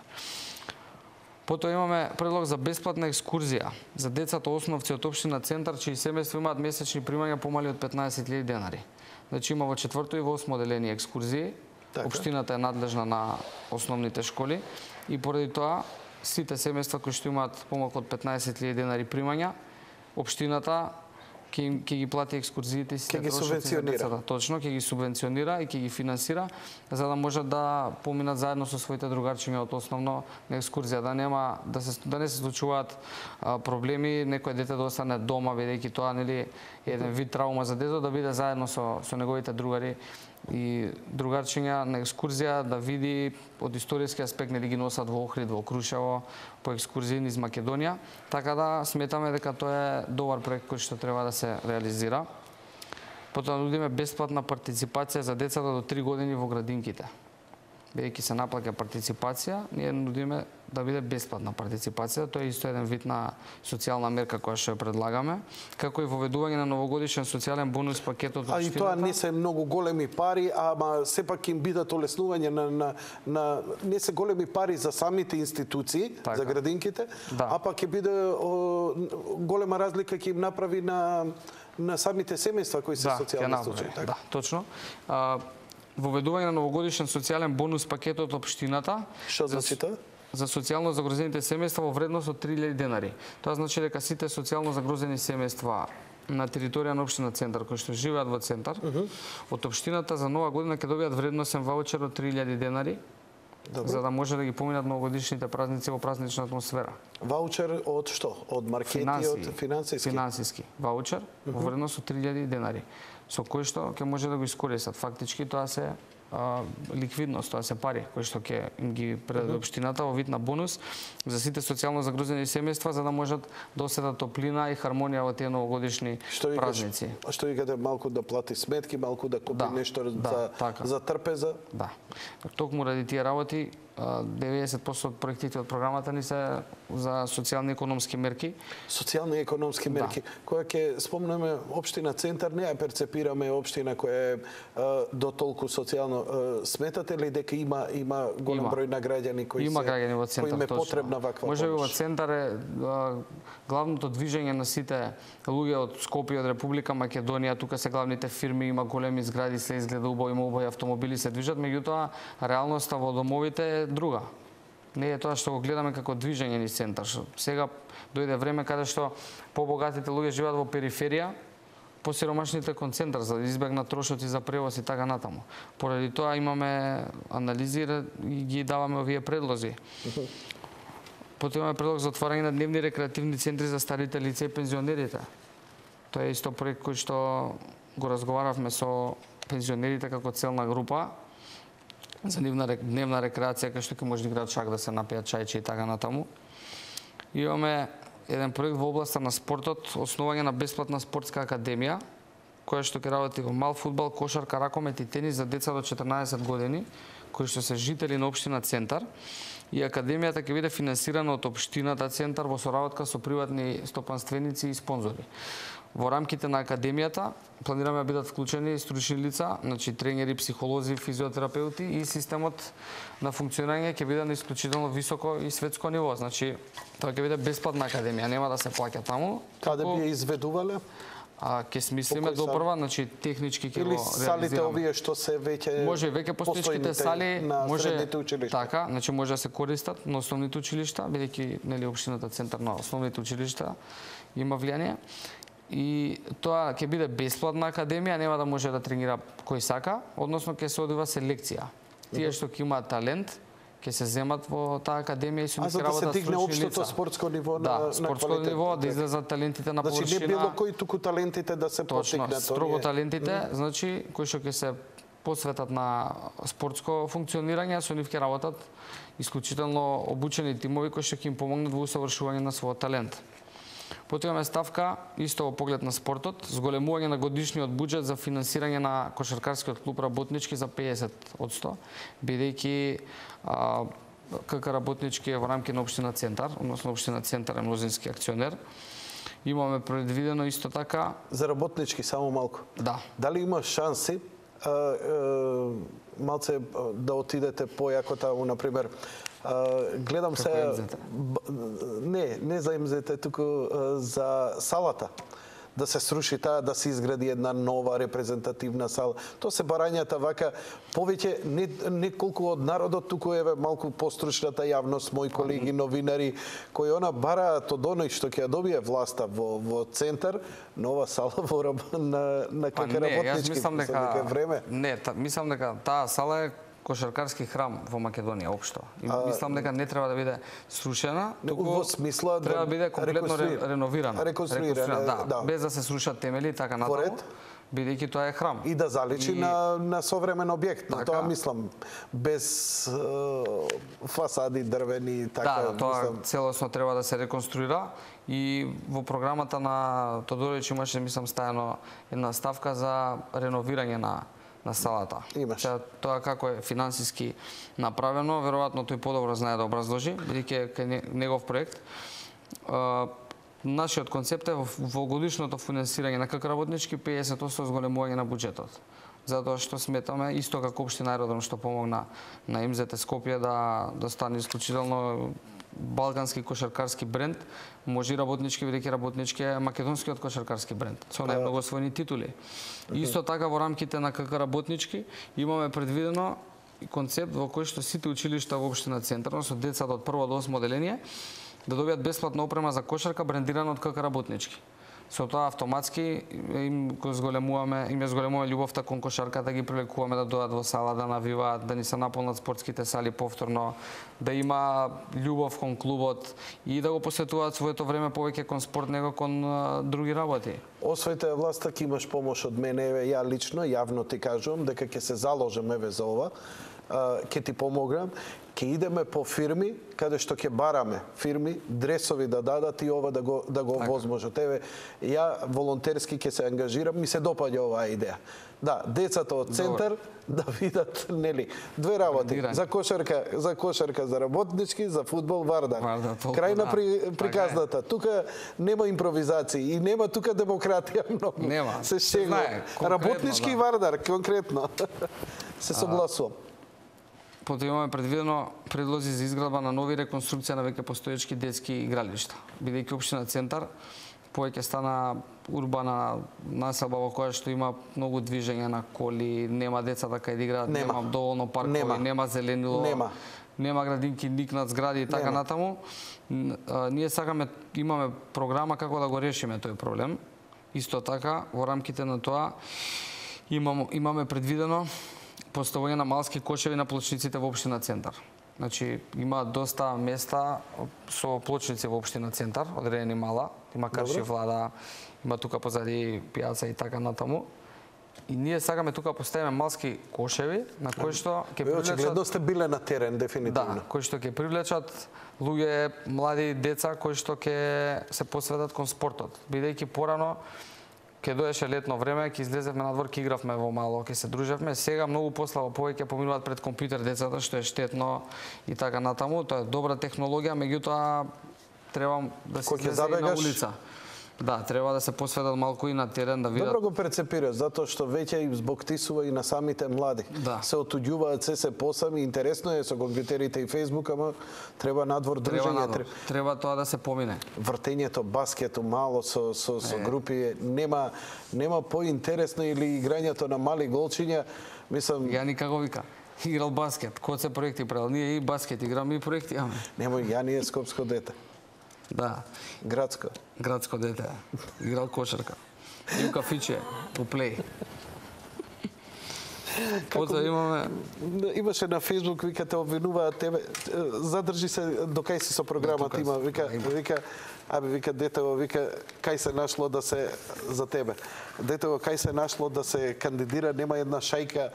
Потоа имаме предлог за бесплатна екскурзија за децата основци од општина Центар чии семејства имаат месечни примања помали од петнаесет илјади денари. Значи има во четврто и во осмо одделение екскурзии. Така. Општината е надлежна на основните школи и поради тоа сите семејства кои што имаат помалку од петнаесет илјади денари примања, општината ќе ќе ги плати екскурзиите и сите трошоци за децата. Точно, ќе ги субвенционира и ќе ги финансира за да можат да поминат заедно со своите другарчиња од основно на екскурзија, да нема да се да не се случуваат а, проблеми, некој дете да остане дома бидејќи тоа нели еден вид траума за детето, да биде заедно со со неговите другари и другарчиња на екскурзија, да види од историски аспект, нели ги носат во Охрид, во Крушево, по екскурзии низ Македонија, така да сметаме дека тоа е добар проект кој што треба да се реализира. Потоа нудиме бесплатна партиципација за децата до три години во градинките. Бидејќи се наплаќа партиципација, ние нудиме да биде бесплатна партиципација, тоа е исто еден вид на социјална мерка која што ја предлагаме, како и воведување на новогодишен социјален бонус пакетот од општината. А и тоа не се многу големи пари, ама сепак им бидат олеснување на, на, на не се големи пари за самите институции, така. За градинките, да. А пак ќе биде о, голема разлика ќе им направи на на самите семејства кои се да, социјални случаи. Да, точно. А, воведување на новогодишен социјален бонус пакет од општината. Што значи тоа? За социјално загрозените семејства во вредност од три илјади денари. Тоа значи дека сите социјално загрозени семејства на територија на општина Центар кои што живеат во Центар, uh -huh. од општината за нова година ќе добијат вредносен ваучер од три илјади денари. Добре. За да може да ги поминат новогодишните празници во празнична атмосфера. Ваучер од што? Од маркети, Финанси, од финансиски? Финансиски. Ваучер uh -huh. во вредност од три илјади денари, со кој што ќе може да го искористат. Фактички тоа се а, ликвидност, тоа се пари кои што ќе ги предаде општината во вид на бонус за сите социјално загрозени семејства за да можат да оседат топлина и хармонија во тие новогодишни што празници. А што викате, малку да плати сметки, малку да купи да, нешто да, за, така. За трпеза? Да. Токму ради тие работи деветдесет проценти од проектите од програмата ни се за социјални економски мерки. Социјални економски мерки, да. Која ќе спомнеме општина Центар, не ја перцепираме општина која е а, до толку социјално. А, сметате ли дека има има голем има. Број на граѓани кои има се граѓани во Центар, кои им е потребна ваква може помош? Може во Центар е а, главното движење на сите луѓе од Скопје, од Република Македонија, тука се главните фирми, има големи згради, се изгледа убаво, има убави автомобили се движат, меѓутоа реалноста во домовите е друга. Не е тоа што го гледаме како движење низ Центар. Сега дојде време каде што побогатите луѓе живеат во периферија, посиромашните кон Центар за да избегнат трошоци за превоз и така натаму. Поради тоа имаме анализи и ги даваме овие предлози. Потоа имаме предлог за отварање на дневни рекреативни центри за старите лица и пензионерите. Тоа е исто проект кој што го разговаравме со пензионерите како целна група за нивна дневна рекреација кај што ќе може да играат шак, да се напијат чајче и така натаму. Имаме еден проект во областа на спортот, основање на бесплатна спортска академија, која што ќе работи во мал фудбал, кошарка, ракомет и тенис за деца до четрнаесет години, кои што се жители на општина Центар. И академијата ќе биде финансирана од општината Центар во соработка со приватни стопанственици и спонзори. Во рамките на академијата планираме да бидат вклучени стручни лица, значи тренери, психолози, физиотерапеути и системот на функционирање ќе биде на исклучително високо и светско ниво. Значи тоа ќе биде бесплатна академија, нема да се плаќа таму. Каде би ја изведувале? А ќе смислиме допрва, значи технички ќе го реализираме. Или салите овие што се веќе може веќе постоечките сали на може средните училишта. Така, значи може да се користат на основните училишта, бидејќи нели општината Центар на основните училишта има влијание. и тоа ќе биде бесплатна академија, нема да може да тренира кој сака, односно ќе се одива селекција. Тие што ќе имаат талент, ќе се земат во таа академија и со нив ќе работат стручни лица. А за да се дигне општото лица. спортско ниво да, на, на спортско квалитет. ниво, да излезат талентите на површина. Значи не било кој туку талентите да се Точно, потикнат. строго талентите, mm. значи кои што ќе се посветат на спортско функционирање, со нив ќе работат исклучително обучени тимови кои што ќе им помогнат во усавршување на својот талент. Потоа имаме ставка, исто во поглед на спортот, зголемување на годишниот буџет за финансирање на кошаркарскиот клуб Работнички за педесет одсто, бидејќи КК Работнички е во рамки на општина Центар, односно општина Центар е мнозински акционер. Имаме предвидено исто така за Работнички само малку. Да. Дали има шанси а, а, малце да отидете појако таму, на пример, Uh, гледам се не, не за МЗТ, туку uh, за салата. Да се сруши таа, да се изгради една нова репрезентативна сала. Тоа се барањата вака, повеќе не, не колку од народот, туку еве малку постручната јавност, мои колеги новинари, кои она бараат од оној што ќе ја добие власта во, во Центар, нова сала во на, на КК Работнички. Јас мислам дека време. Не, та, мислам дека таа сала е кошаркарски храм во Македонија општо. И а, мислам дека не треба да биде срушена, туку во смисла треба да биде комплетно реконструира. реновирана. Реконструирана, да, да. без да се срушат темели и така натаму. Бидејќи тоа е храм. И да заличи и... на, на современ објект. Така. Тоа мислам, без е, фасади дрвени, така. Да, тоа мислам... целосно треба да се реконструира. И во програмата на Тодорич имаше, мислам, стајано една ставка за реновирање на на салата. Имаш. Тоа како е финансиски направено, веројатно тој подобро знае да образложи, бидејќи е негов проект. Нашиот концепт е во годишното финансирање на КК Работнички педесет одсто зголемување на буџетот. Затоа што сметаме, исто како општина Аеродром што помогна на МЗТ Скопје да, да стане исклучително балкански кошаркарски бренд, може и Работнички, бидејќи Работнички е македонскиот кошаркарски бренд, со најмногу освоени титули. Исто така во рамките на КК Работнички имаме предвидено концепт во кој што сите училишта во општина Центар, со децата од прво до осмо оделение, да добијат бесплатна опрема за кошарка брендирана од КК Работнички. Со тоа автоматски им го зголемуваме, им ја зголемуваме љубовта кон кошарката, да ги привлекуваме да дојдат во сала, да навиваат, да ни се наполнат спортските сали повторно, да има љубов кон клубот и да го посветуваат своето време повеќе кон спорт него кон а, други работи. Освоите власта ќе имаш помош од мене, еве ја лично, јавно ти кажувам дека ќе се заложам еве за ова. Ќе ти помогнам, ќе идеме по фирми каде што ќе бараме фирми дресови да дадат и ова да го да го возможат. Еве ја волонтерски ќе се ангажирам, ми се допаѓа оваа идеја. Да, децата од Центар да видат, нели, две работи, за кошарка, за кошарка за Работнички, за фудбал Вардар. Вардар Крај на при, приказната. Тука нема импровизации и нема тука демократија многу. Нема. Се шегува. Работнички и да. Вардар конкретно. Се согласувам. Потоа имаме предвидено предлози за изградба на нови реконструкција на веќе постоечки детски игралишта. Бидејќи општина Центар повеќе стана урбана населба во која што има многу движење на коли, нема децата кај да играат, нема, нема доволно паркови, нема, нема зеленило, нема, нема градинки ник над згради и така нема натаму. Ние сакаме, имаме програма како да го решиме тој проблем. Исто така, во рамките на тоа имам, имаме предвидено поставување на малски кошеви на плочниците во општина Центар. Значи, има доста места со плочници во општина Центар, одредени мала, има Карши Влада, има тука позади пијаца и така натаму. И ние сакаме тука поставиме малски кошеви на кои што ќе привлечат... Очигледно сте биле на терен, дефинитивно. Да, кои што ќе привлечат луѓе, млади деца, кои што ќе се посветат кон спортот. Бидејќи порано ке доеше летно време, ќе излезевме надвор, ќе игравме во мало, ќе се дружевме. Сега многу пославо повеќе поминуваат пред компјутер децата, што е штетно и така натаму. Тоа е добра технологија, меѓутоа треба да се излезе и на улица. Да, треба да се посветат малку и на терен, да видат. Добро го перцепираш, затоа што веќе им збоктисува и на самите млади. Да. Се отуѓуваат се се посами, интересно е со компјутерите и Фејсбук, ама треба надвор дружење. Треба, надвор. треба тоа да се помине. Вртењето, баскетот мало со со со групи нема нема поинтересно или играњето на мали голчиња, мислам. Ја никако вика. Играл баскет, кој се проекти правил, ние и баскет играме и проекти имаме. Немој, ја не е скопско дете. Да. Градско. Градско дете. Играл кошарка. И у кафиче, у плей. Потоа имаме... Имаше на Фейсбук, вика, те обвинуваат тебе, задржи се до кај си со програмата, има, вика, вика, абе, вика, детево, вика, кај се нашло да се, за тебе, детево, кај се нашло да се кандидира, нема една шајка,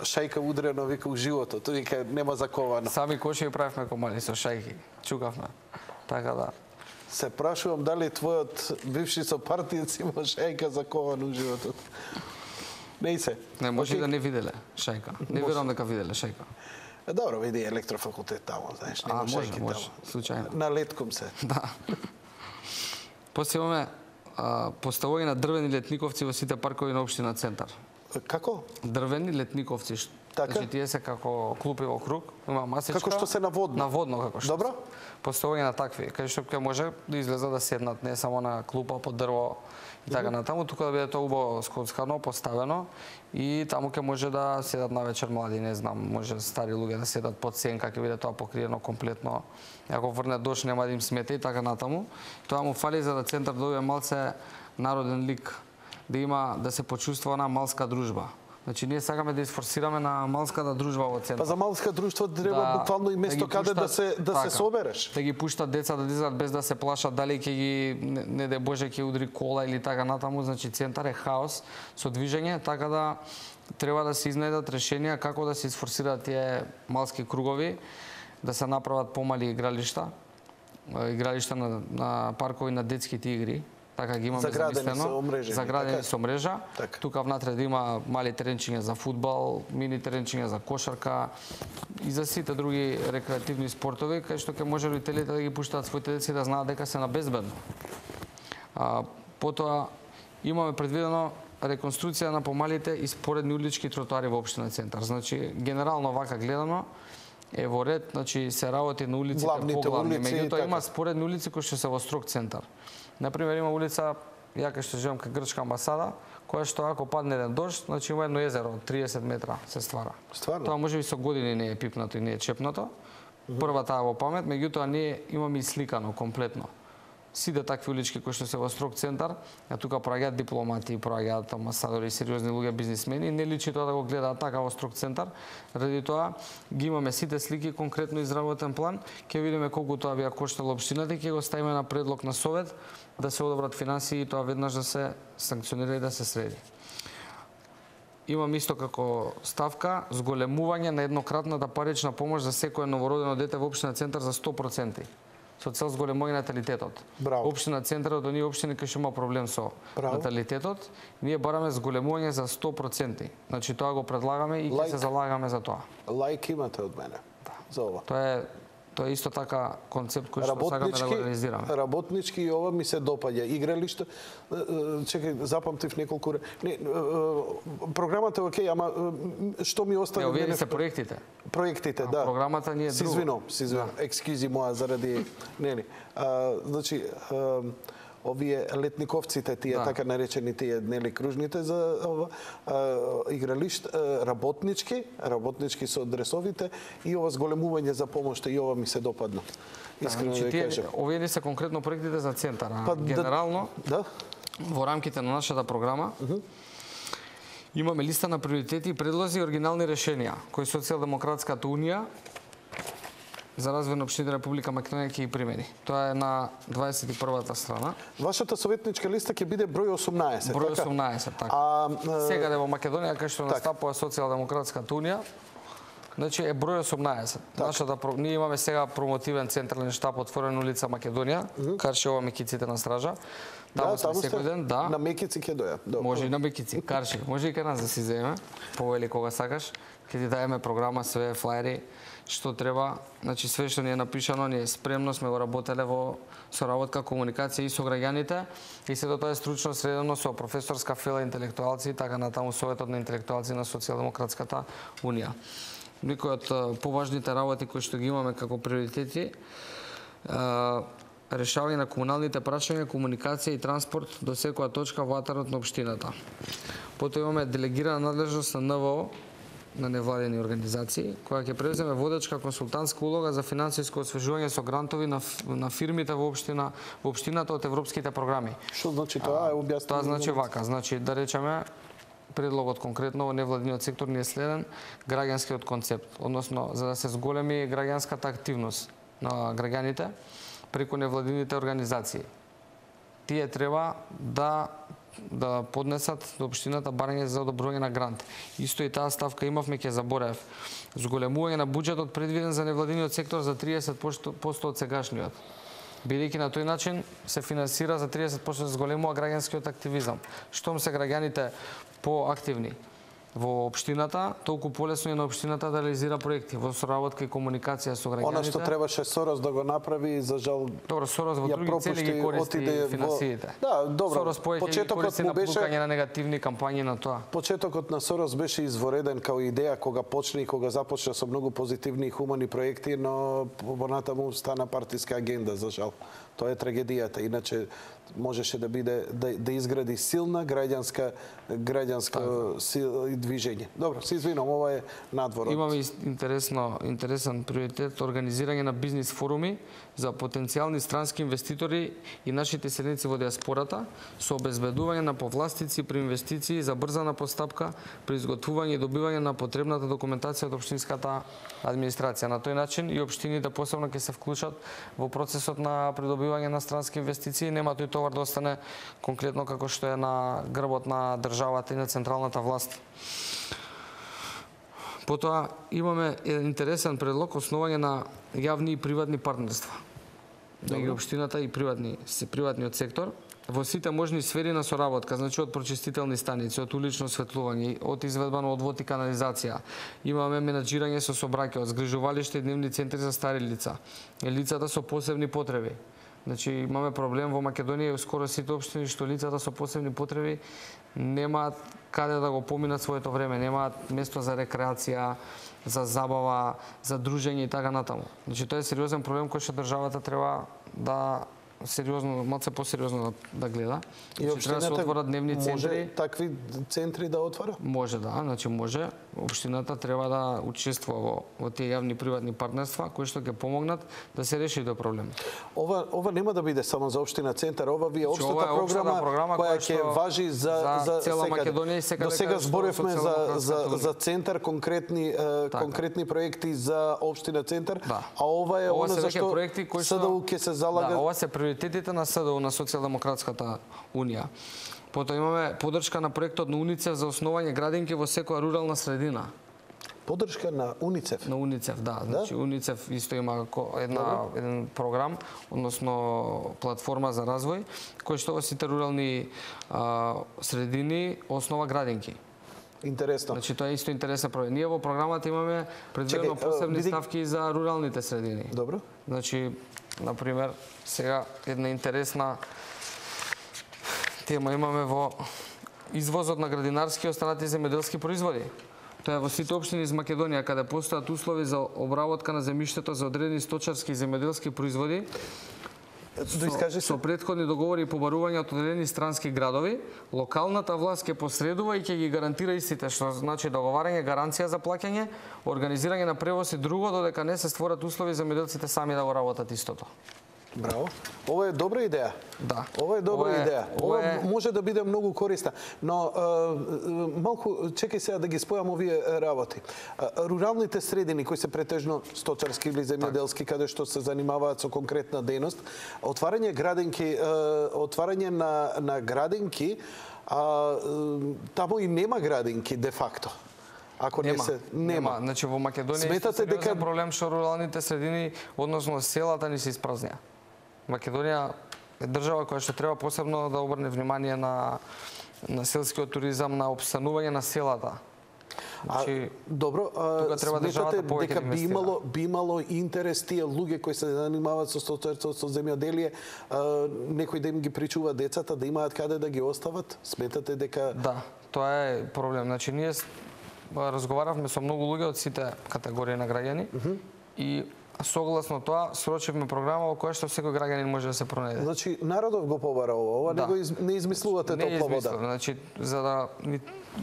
шајка удрено, вика, у животот, вика, нема заковано. Сами коши правевме комали со шајки, чукавме, така да. Се прашувам дали твојот бивши сопартиец има шајка закована у животот. Не се. Не, може okay. да не виделе шајка. Не верувам дека виделе шајка. Добро, види електрофакултет таму, знаеш, нема шајки таму. Може, случајно. На летком се. Да. После имаме поставување на дрвени летниковци во сите паркови на општина Центар. Како? Дрвени летниковци. Така? Значи тие се како клупи во круг, има масичка. Како што се наводно. Наводно како што. Добро. Поставување на такви, кај што ќе може да излезат да седнат не само на клупа под дрво и така натаму, тука да биде тоа убаво скоцкано поставено и таму ќе може да седат на вечер млади, не знам, може стари луѓе да седат под сенка, ќе биде тоа покриено комплетно. Ако врне дожд нема да им смете и така натаму. Тоа му фали за да Центар добие малце народен лик, да има да се почувствува на малска дружба. Значи ние сакаме да изфорсираме на малската дружба во Центар. Па за малска друштво треба да, буквално и место да каде да се да така, се собереш. Да ги пуштат деца да излезат без да се плашат дали ќе ги не, не де Боже ќе удри кола или така натаму, значи Центар е хаос со движење, така да треба да се изнајдат решенија како да се изфорсираат тие малски кругови, да се направат помали игралишта, игралишта на, на паркови на детските игри. Така ги имаме замислено, заградени со мрежа. Так. Тука внатре да има мали теренчиња за фудбал, мини теренчиња за кошарка и за сите други рекреативни спортови, кај што ќе може родителите да ги пуштаат своите деца да знаат дека се на безбедно. А, потоа имаме предвидено реконструкција на помалите и споредни улички тротоари во општина Центар. Значи генерално вака гледано е во ред, значи се работи на улиците поглавни, меѓутоа има споредни улици кои што се во строг центар. Например, има улица, ја кај што живеам кај Грчка амбасада, која што ако падне еден дожд, значи има едно езеро од триесет метра се ствара. Стварно? Тоа можеби со години не е пипнато и не е чепнато. Прва таа во памет, меѓутоа ние имаме и сликано комплетно. Сите такви улички кои што се во строг центар, а тука проаѓаат дипломати, проаѓаат амбасадори, сериозни луѓе, бизнисмени, не личи тоа да го гледаат така во строг центар. Ради тоа ги имаме сите слики конкретно изработен план, ќе видиме колку тоа би ја коштало општината и ќе го ставиме на предлог на совет да се одобрат финансии и тоа веднаш да се санкционира и да се среди. Имам исто како ставка зголемување на еднократната парична помош за секое новородено дете во општина Центар за сто проценти. Со цел зголемување наталитетот. Браво. Општина Центар од оние општини кои што има проблем со Браво. наталитетот, ние бараме зголемување за сто проценти. Значи тоа го предлагаме и ќе Лайк. се залагаме за тоа. Лайк имате од мене. Да. За ова. Тоа е тоа е исто така концепт кој што сакаме да го реализираме. Работнички и ова ми се допаѓа. Игралиште, чекај, запамтив неколку. Не, програмата е окей, ама што ми остави мене? Овие се проектите. Проектите, да. Програмата ни е друго. Си извинувам, си извинувам. Да. Екскюзи моја заради нели. А, значи а, овие летниковците, тие да. така наречени тие нели кружните за ова а, игралишт, а, работнички, работнички со дресовите и ова зголемување за помошта и ова ми се допадна. Искрено да, тие, кажам. овие не се конкретно проектите за центар, па, генерално да, во рамките на нашата програма uh -huh. имаме листа на приоритети и предлози и оригинални решенија кои Социјалдемократската унија за развој на општината Република Македонија ќе ги примени. Тоа е на дваесет и првата страна. Вашата советничка листа ќе биде број осумнаесет, број така? осумнаесет, така. А, сега во Македонија кај што настапува Социјалдемократската унија, значи е број осумнаесет. Так. Нашата ние имаме сега промотивен централен штаб отворен улица Македонија, mm -hmm. Каршева Мекиците на стража. Таму да, сме секој ден, да. На Мекици ќе дојат. Добро. Може и на Мекици, Карши, може и кај нас да си земе, повели кога сакаш. Ќе ти даеме програма, све флаери, што треба, значи све што ни е напишано, ние спремно сме го работеле во соработка, комуникација и со граѓаните и сето тоа е стручно средено со професорска фела интелектуалци и така натаму советот на интелектуалци на Социјалдемократската унија. Некои од поважните работи кои што ги имаме како приоритети, решавање на комуналните прашања, комуникација и транспорт до секоја точка во атарот на општината. Потоа имаме делегирана надлежност на НВО на невладени организации, која ќе преземе водечка консултантска улога за финансиско освежување со грантови на, на фирмите во општина, во општината од европските програми. Што значи тоа? Е објаснено. Тоа значи вака, значи да речеме предлогот конкретно во невладиниот сектор не е следен граѓанскиот концепт, односно за да се зголеми граѓанската активност на граѓаните преку невладините организации. Тие треба да да поднесат до општината барање за одобрување на грант. Исто и таа ставка имавме, ќе заборев. Зголемување на буџетот предвиден за невладиниот сектор за триесет проценти од сегашниот. Бидејќи на тој начин се финансира за триесет проценти зголемува граѓанскиот активизам. Штом се граѓаните поактивни во општината, толку полесно е на општината да реализира проекти во соработка и комуникација со граѓаните. Она што требаше Сорос да го направи, за жал Добро, Сорос во други цели ги користи финансиите. Да, добро. Сорос повеќе користи на пукање на негативни кампањи на тоа. Почетокот на Сорос беше извореден као идеја кога почне и кога започна со многу позитивни и хумани проекти, но понатаму стана партиска агенда, за жал. Тоа е трагедијата. Иначе можеше да биде да, да изгради силна граѓанска граѓанска сил и движење. Добро, се извинувам, ова е надвор. Имаме интересно интересен приоритет организирање на бизнис форуми за потенцијални странски инвеститори и нашите селеници во диаспората со обезбедување на повластици при инвестиции за брзана постапка при изготвување и добивање на потребната документација од општинската администрација. На тој начин и општините посебно ќе се вклучат во процесот на придобивање на странски инвестиции, нема тој товар да остане конкретно како што е на грбот на државата и на централната власт. Потоа имаме еден интересен предлог основање на јавни и приватни партнерства. Меѓу општината и приватни, приватниот сектор во сите можни сфери на соработка, значи од прочистителни станици, од улично осветлување, од изведба на одвод и канализација. Имаме менаџирање со сообраќајот, згрижувалиште и дневни центри за стари лица, лицата со посебни потреби. Значи имаме проблем во Македонија и скоро сите општини што лицата со посебни потреби немаат каде да го поминат своето време, немаат место за рекреација, за забава, за дружење и така натаму. Значи тоа е сериозен проблем кој што државата треба да сериозно, малце посериозно да гледа. И значи, треба да се отворат дневни центри. Може такви центри да отвора? Може да, значи може. Општината треба да учествува во, во тие јавни приватни партнерства кои што ќе помогнат да се реши тој проблем. Ова ова нема да биде само за општина Центар, ова ви е општата програма, програма која ќе важи за за, за цела Македонија и сега. До сега зборевме за за за Центар конкретни така. конкретни проекти за општина Центар, да. А ова е ова она за што СДУ ќе се залага. Да, ова се приоритетите на СДУ, на Социјалдемократската унија. Потоа имаме поддршка на проектот на УНИЦЕФ за основање градинки во секоја рурална средина. Поддршка на УНИЦЕФ? На УНИЦЕФ, да. Значи УНИЦЕФ исто има една еден програм, односно платформа за развој, кој што во сите рурални а, средини основа градинки. Интересно. Значи тоа е исто интересен проект. Ние во програмата имаме предвидено посебни биди... ставки за руралните средини. Добро. Значи, например, сега една интересна тема имаме во извозот на градинарски и останати земјоделски производи. Тоа е во сите општини из Македонија каде постојат услови за обработка на земјиштето за одредени сточарски и земјоделски производи. Со, со претходни договори и побарување од одредени странски градови, локалната власт ќе посредува и ќе ги гарантира истите, што значи договарање, гаранција за плаќање, организирање на превоз и друго, додека не се створат услови за земјоделците сами да го работат истото. Браво. Ова е добра идеја. Да. Ова е добра ова е, идеја. Ова, ова е... може да биде многу корисна. Но е, малку чекај сега да ги спојам овие работи. Руралните средини кои се претежно сточарски или земјоделски, каде што се занимаваат со конкретна дејност, отварање градинки, отварање на на градинки, а таму и нема градинки де факто. Ако нема, не се нема. нема. Значи во Македонија сметате дека проблем што руралните средини, односно селата ни се испразнија. Македонија е држава која што треба посебно да обрне внимание на на селскиот туризам, на опстанување на селата. Значи, а, добро, а, сметате дека би имало, би имало интерес тие луѓе кои се занимаваат со сточарство, со земјоделие, некој да им ги причува децата, да имаат каде да ги остават? Сметате дека... Да, тоа е проблем. Значи, ние разговаравме со многу луѓе од сите категории на граѓани uh -huh. и согласно тоа срочивме програма во која што секој граѓанин може да се пронајде. Значи народот го побара ова, ова да. не го из, не измислувате топла вода. Значи за да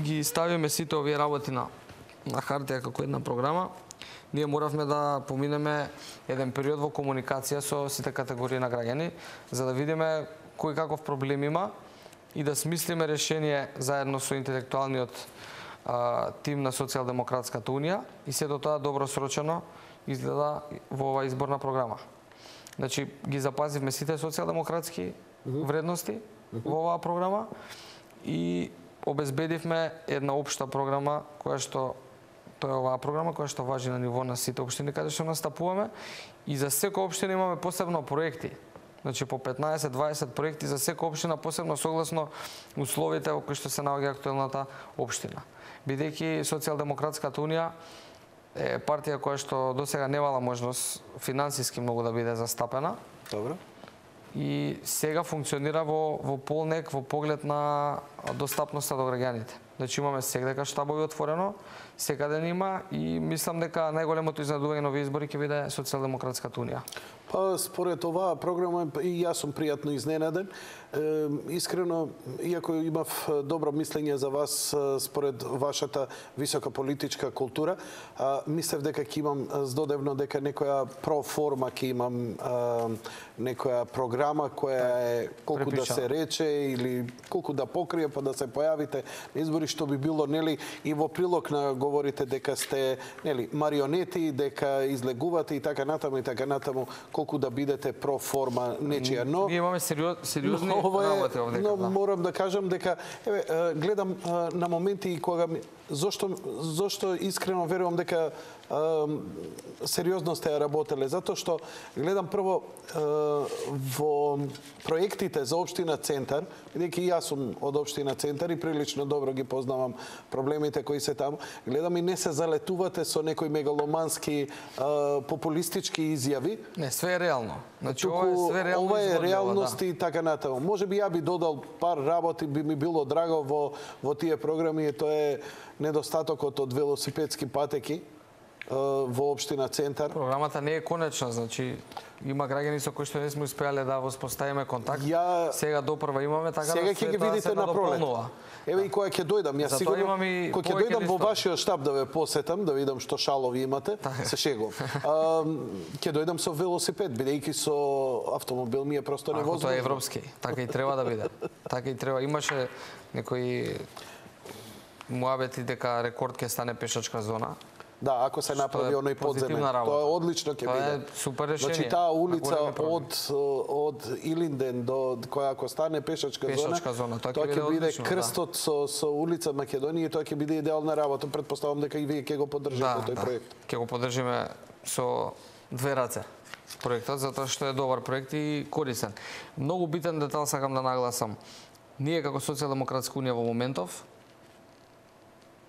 ги ставиме сите овие работи на на хартија како една програма, ние моравме да поминеме еден период во комуникација со сите категории на граѓани, за да видиме кој каков проблем има и да смислиме решение заедно со интелектуалниот а, тим на Социјалдемократската унија и сето тоа добро срочено изгледа во оваа изборна програма. Значи, ги запазивме сите социјалдемократски вредности во оваа програма и обезбедивме една општа програма која што тоа е оваа програма која што важи на ниво на сите општини каде што настапуваме и за секоја општина имаме посебно проекти. Значи по петнаесет до дваесет проекти за секоја општина посебно согласно условите во кои што се наоѓа актуелната општина. Бидејќи Социјалдемократската унија е партија која што досега немала можност финансиски многу да биде застапена. Добро. И сега функционира во, во полнек во поглед на достапноста до граѓаните. Значи имаме секаде штабови отворено, секаде има и мислам дека најголемото изненадување на овие избори ќе биде Социјалдемократската унија. Па според оваа програма и јас сум пријатно изненаден. Е, искрено, иако имав добро мислење за вас според вашата висока политичка култура, а, мислев дека ќе имам здодевно дека некоја проформа ќе имам а, некоја програма која е колку Препича. да се рече или колку да покрие па да се појавите на избори, што би било нели и во прилог на говорите дека сте нели марионети, дека излегувате и така натаму и така натаму, колку да бидете проформа нечија, но ние имаме сериоз, сериозни но, работи овде. Но да. морам да кажам дека еве гледам на моменти и кога ми, зошто зошто искрено верувам дека сериозно сте работеле, затоа што гледам прво во проектите за општина Центар, бидејќи јас сум од општина Центар и прилично добро ги познавам проблемите кои се таму, гледам и не се залетувате со некои мегаломански популистички изјави. Не, све е реално. Значи Туку, ова е све реално. Ова е реалност да. и така натаму. Може би ја би додал пар работи, би ми било драго во во тие програми, и тоа е недостатокот од велосипедски патеки во општина Центар. Програмата не е конечна, значи има граѓани со кои што не сме успеале да воспоставиме контакт. Ја... Сега допрва имаме, така сега да ќе ги видите на пролет. Еве и кога ќе дојдам, јас Затоа сигурно кога ќе дојдам во вашиот штаб да ве посетам, да видам што шалови имате, се шегувам. Ќе дојдам со велосипед, бидејќи со автомобил ми е просто невозможно. Тоа е европски, така и треба да биде. Така и треба. Имаше некои муабети дека рекорд ќе стане пешачка зона. Да, ако се направи оној подземен, тоа е одлично ќе биде. Тоа е супер решение. Значи таа улица од од Илинден до која ако стане пешачка, пешачка зона, зона, тоа ќе биде одлично, крстот да. со со улица Македонија и тоа ќе биде идеална работа. Претпоставам дека и вие ќе го поддржите да, тој да. проект. Ќе го поддржиме со две раце проектот, затоа што е добар проект и корисен. Многу битен детал сакам да нагласам. Ние како Социјалдемократска унија во моментов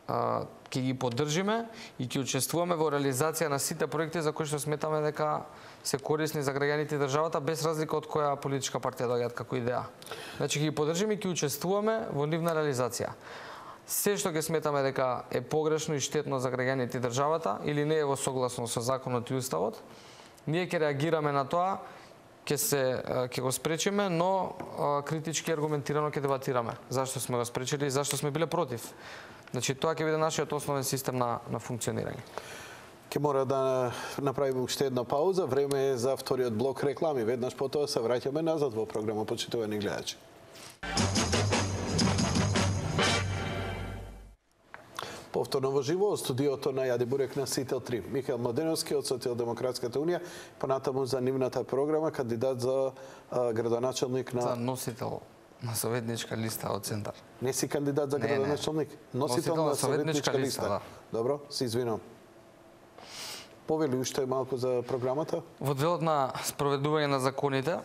ќе ги поддржиме и ќе учествуваме во реализација на сите проекти за кои што сметаме дека се корисни за граѓаните и државата, без разлика од која политичка партија доаѓаат како идеја. Значи ќе ги поддржиме и ќе учествуваме во нивна реализација. Се што ќе сметаме дека е погрешно и штетно за граѓаните и државата или не е во согласно со законот и уставот, ние ќе реагираме на тоа, ќе се ќе го спречиме, но критички аргументирано ќе дебатираме зашто сме го спречили и зашто сме биле против. Значи тоа ќе биде нашиот основен систем на на функционирање. Ќе мора да направиме уште една пауза, време е за вториот блок реклами. Веднаш потоа се враќаме назад во програма, почитувани гледачи. Повторно во живо од студиото на Јади Бурек на Сител три. Михаел Младеновски од Социјалдемократската унија, понатаму за нивната програма, кандидат за а, градоначелник на... За носител на советничка листа од Центар. Не си кандидат за градоначелник? Носител, Носител на советничка листа. листа. Да. Добро, се извинувам. Повели уште малку за програмата? Во делот на спроведување на законите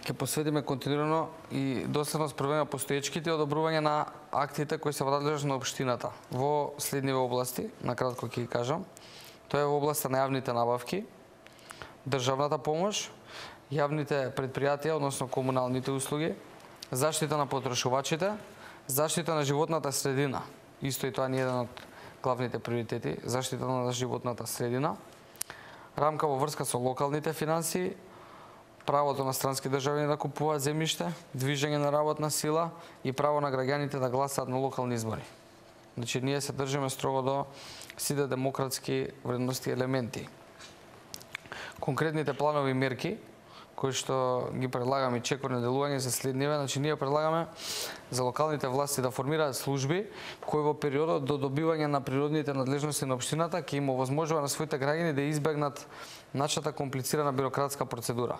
ќе посветиме континуирано и доследно спроведување на постоечките и одобрување на актите кои се во надлежност на општината во следниве области, накратко ќе ги кажам. Тоа е во областа на јавните набавки, државната помош, јавните предпријатија, односно комуналните услуги, заштита на потрошувачите, заштита на животната средина. Исто и тоа не е еден од главните приоритети, заштита на животната средина, рамка во врска со локалните финансии, правото на странски државјани да купуваат земјиште, движење на работна сила и право на граѓаните да гласаат на локални избори. Значи, ние се држиме строго до сите демократски вредности и елементи. Конкретните планови мерки кои што ги предлагаме и чекорни делување се следниве. Значи, ние предлагаме за локалните власти да формираат служби кои во периодот до добивање на природните надлежности на општината ќе им овозможува на своите граѓани да избегнат начата комплицирана бирократска процедура.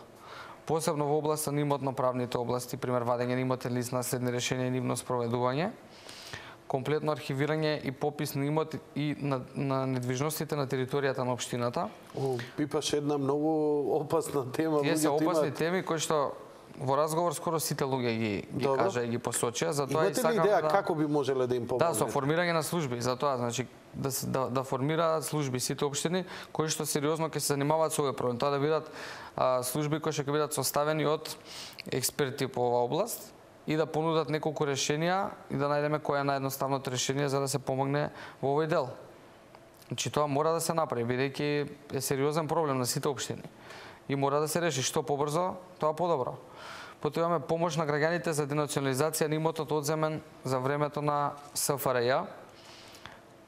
Посебно во областа на имотно-правните области, пример вадење на имотен лист, наследни решенија и нивно спроведување, комплетно архивирање и попис на имот и на, на недвижностите на територијата на општината. О, пипаш една многу опасна тема. Тие се опасни теми кои што во разговор скоро сите луѓе ги, ги кажа и ги посочија. Затоа имате ли идеја да, како би можеле да им помогнете? Да, со формирање на служби. Затоа, значи, да, да, да формираат служби сите општини кои што сериозно ќе се занимаваат со овој проблем. Тоа да бидат а, служби кои што ќе бидат составени од експерти по оваа област и да понудат неколку решенија и да најдеме кој е наједноставното решение за да се помогне во овој дел. Значи, тоа мора да се направи, бидејќи е сериозен проблем на сите општини. И мора да се реши што побрзо, тоа подобро. Потоа имаме помош на граѓаните за денационализација на имотот одземен за времето на С Ф Р Ј,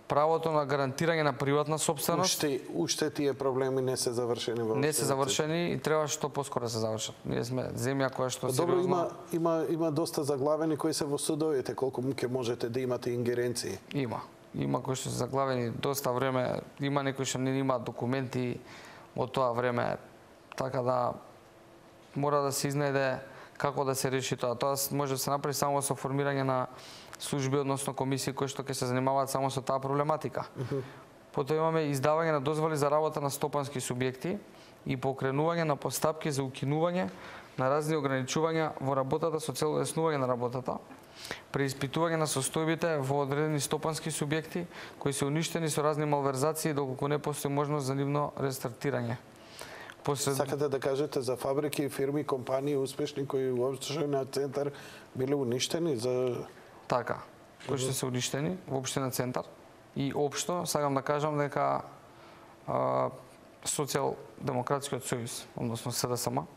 правото на гарантирање на приватна сопственост. Уште, уште тие проблеми не се завршени во Не се завршени и треба што поскоро да се завршат. Ние сме земја која што Добро, сериозно... има, има, има доста заглавени кои се во судовите, колку ќе можете да имате ингеренции? Има. Има кои што се заглавени доста време, има некои што не имаат документи од тоа време, така да мора да се изнајде како да се реши тоа. Тоа може да се направи само со формирање на служби, односно комисии кои што ќе се занимаваат само со таа проблематика. Uh-huh. Потоа имаме издавање на дозволи за работа на стопански субјекти и покренување на постапки за укинување на разни ограничувања во работата со цел улеснување на работата, преиспитување на состојбите во одредени стопански субјекти кои се уништени со разни малверзации доколку не постои можност за нивно рестартирање. Посред... Сакате да кажете за фабрики, фирми, компании успешни кои во општина Центар биле уништени за... Така, кои што се уништени во општина Центар и општо сакам да кажам дека а, Социјалдемократскиот сојуз, односно С Д С М,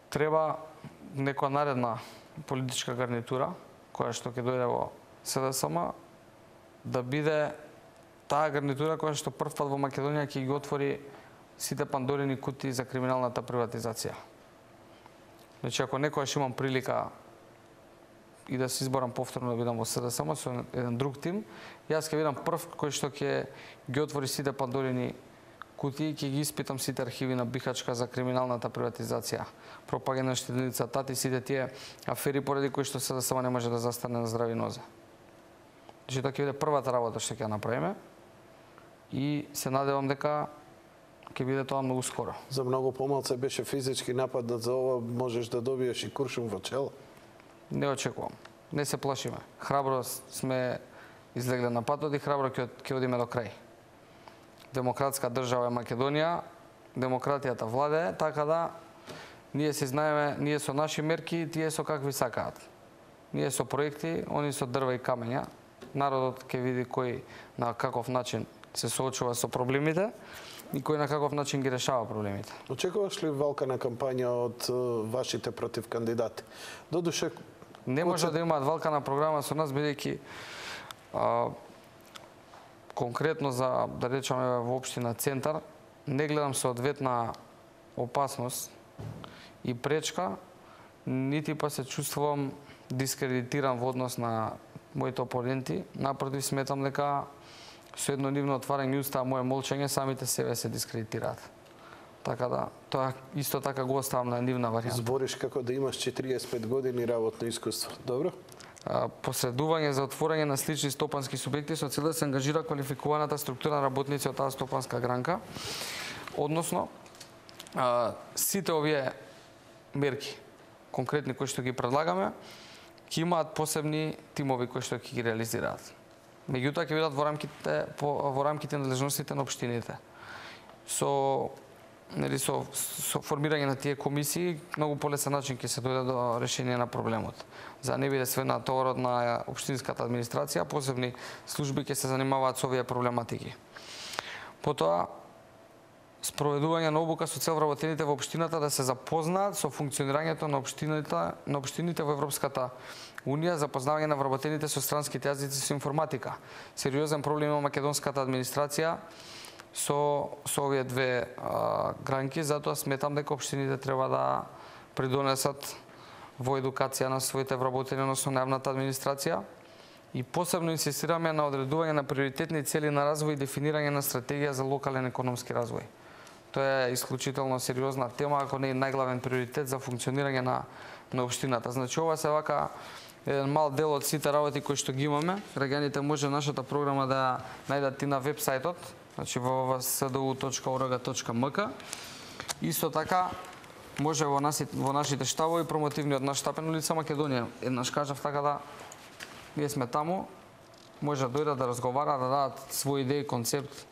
треба некоја наредна политичка гарнитура која што ќе дојде во С Д С М да биде таа гарнитура која што првпат во Македонија ќе ги отвори сите пандорини кутии за криминалната приватизација. Значи, ако некојаш имам прилика и да се изборам повторно да бидам во С Д С М со еден друг тим, јас ќе бидам прв кој што ќе ги отвори сите пандорини кутии и ќе ги испитам сите архиви на Бихачка за криминалната приватизација, пропагање на штеденица тати, сите тие афери поради кои што С Д С М не може да застане на здрави нозе. Значи, тоа ќе биде првата работа што ќе направиме и се надевам дека ќе биде тоа многу скоро. За многу помалце беше физички нападнат, за ова можеш да добиеш и куршум во чело? Не очекувам. Не се плашиме. Храбро сме излегле на патот и храбро ќе, ќе одиме до крај. Демократска држава е Македонија, демократијата владее, така да ние се знаеме, ние со наши мерки, тие со какви сакаат. Ние со проекти, они со дрва и камења. Народот ќе види кој на каков начин се соочува со проблемите и кој на каков начин ги решава проблемите. Очекуваш ли валкана кампања од вашите против кандидати? Додуше, не може да имаат валкана програма со нас, бидејќи конкретно за, да речеме, во општина Центар, не гледам со одветна опасност и пречка, нити па се чувствувам дискредитиран во однос на моите опоненти. Напротив, сметам дека со едно нивно отварање уста, моје молчење, самите себе се дискредитираат. Така да, тоа исто така го оставам на нивна варијанта. Збориш како да имаш четириесет и пет години работно искуство. Добро? Посредување за отворање на слични стопански субјекти со цел да се ангажира квалификуваната структура на работници од таа стопанска гранка. Односно, сите овие мерки, конкретни кои што ги предлагаме, ќе имаат посебни тимови кои што ќе ги реализираат. Меѓутоа ќе бидат во рамките во рамките на надлежностите на општините. Со нели со, со формирање на тие комисии многу полесен начин ќе се дојде до решение на проблемот. За не биде све на товарот на општинската администрација, посебни служби ќе се занимаваат со овие проблематики. Потоа спроведување на обука со цел вработените во општината да се запознаат со функционирањето на општините, на општините во Европската Унија, запознавање на вработените со странските јазици со информатика. Сериозен проблем има македонската администрација со со овие две а, гранки, затоа сметам дека општините треба да придонесат во едукација на своите вработени, односно на јавната администрација. И посебно инсистираме на одредување на приоритетни цели на развој и дефинирање на стратегија за локален економски развој. Тоа е исклучително сериозна тема, ако не е најглавен приоритет за функционирање на на општината. Значи ова се вака еден мал дел од сите работи кои што ги имаме. Граѓаните може нашата програма да најдат и на вебсајтот, значи во ес д у точка о р г точка м к. Исто така може во нашите во нашите штабови промотивниот наш штаб на улица Македонија. Еднаш кажав така да ние сме таму, може да дојдат да разговараат, да дадат своји идеи, концепт,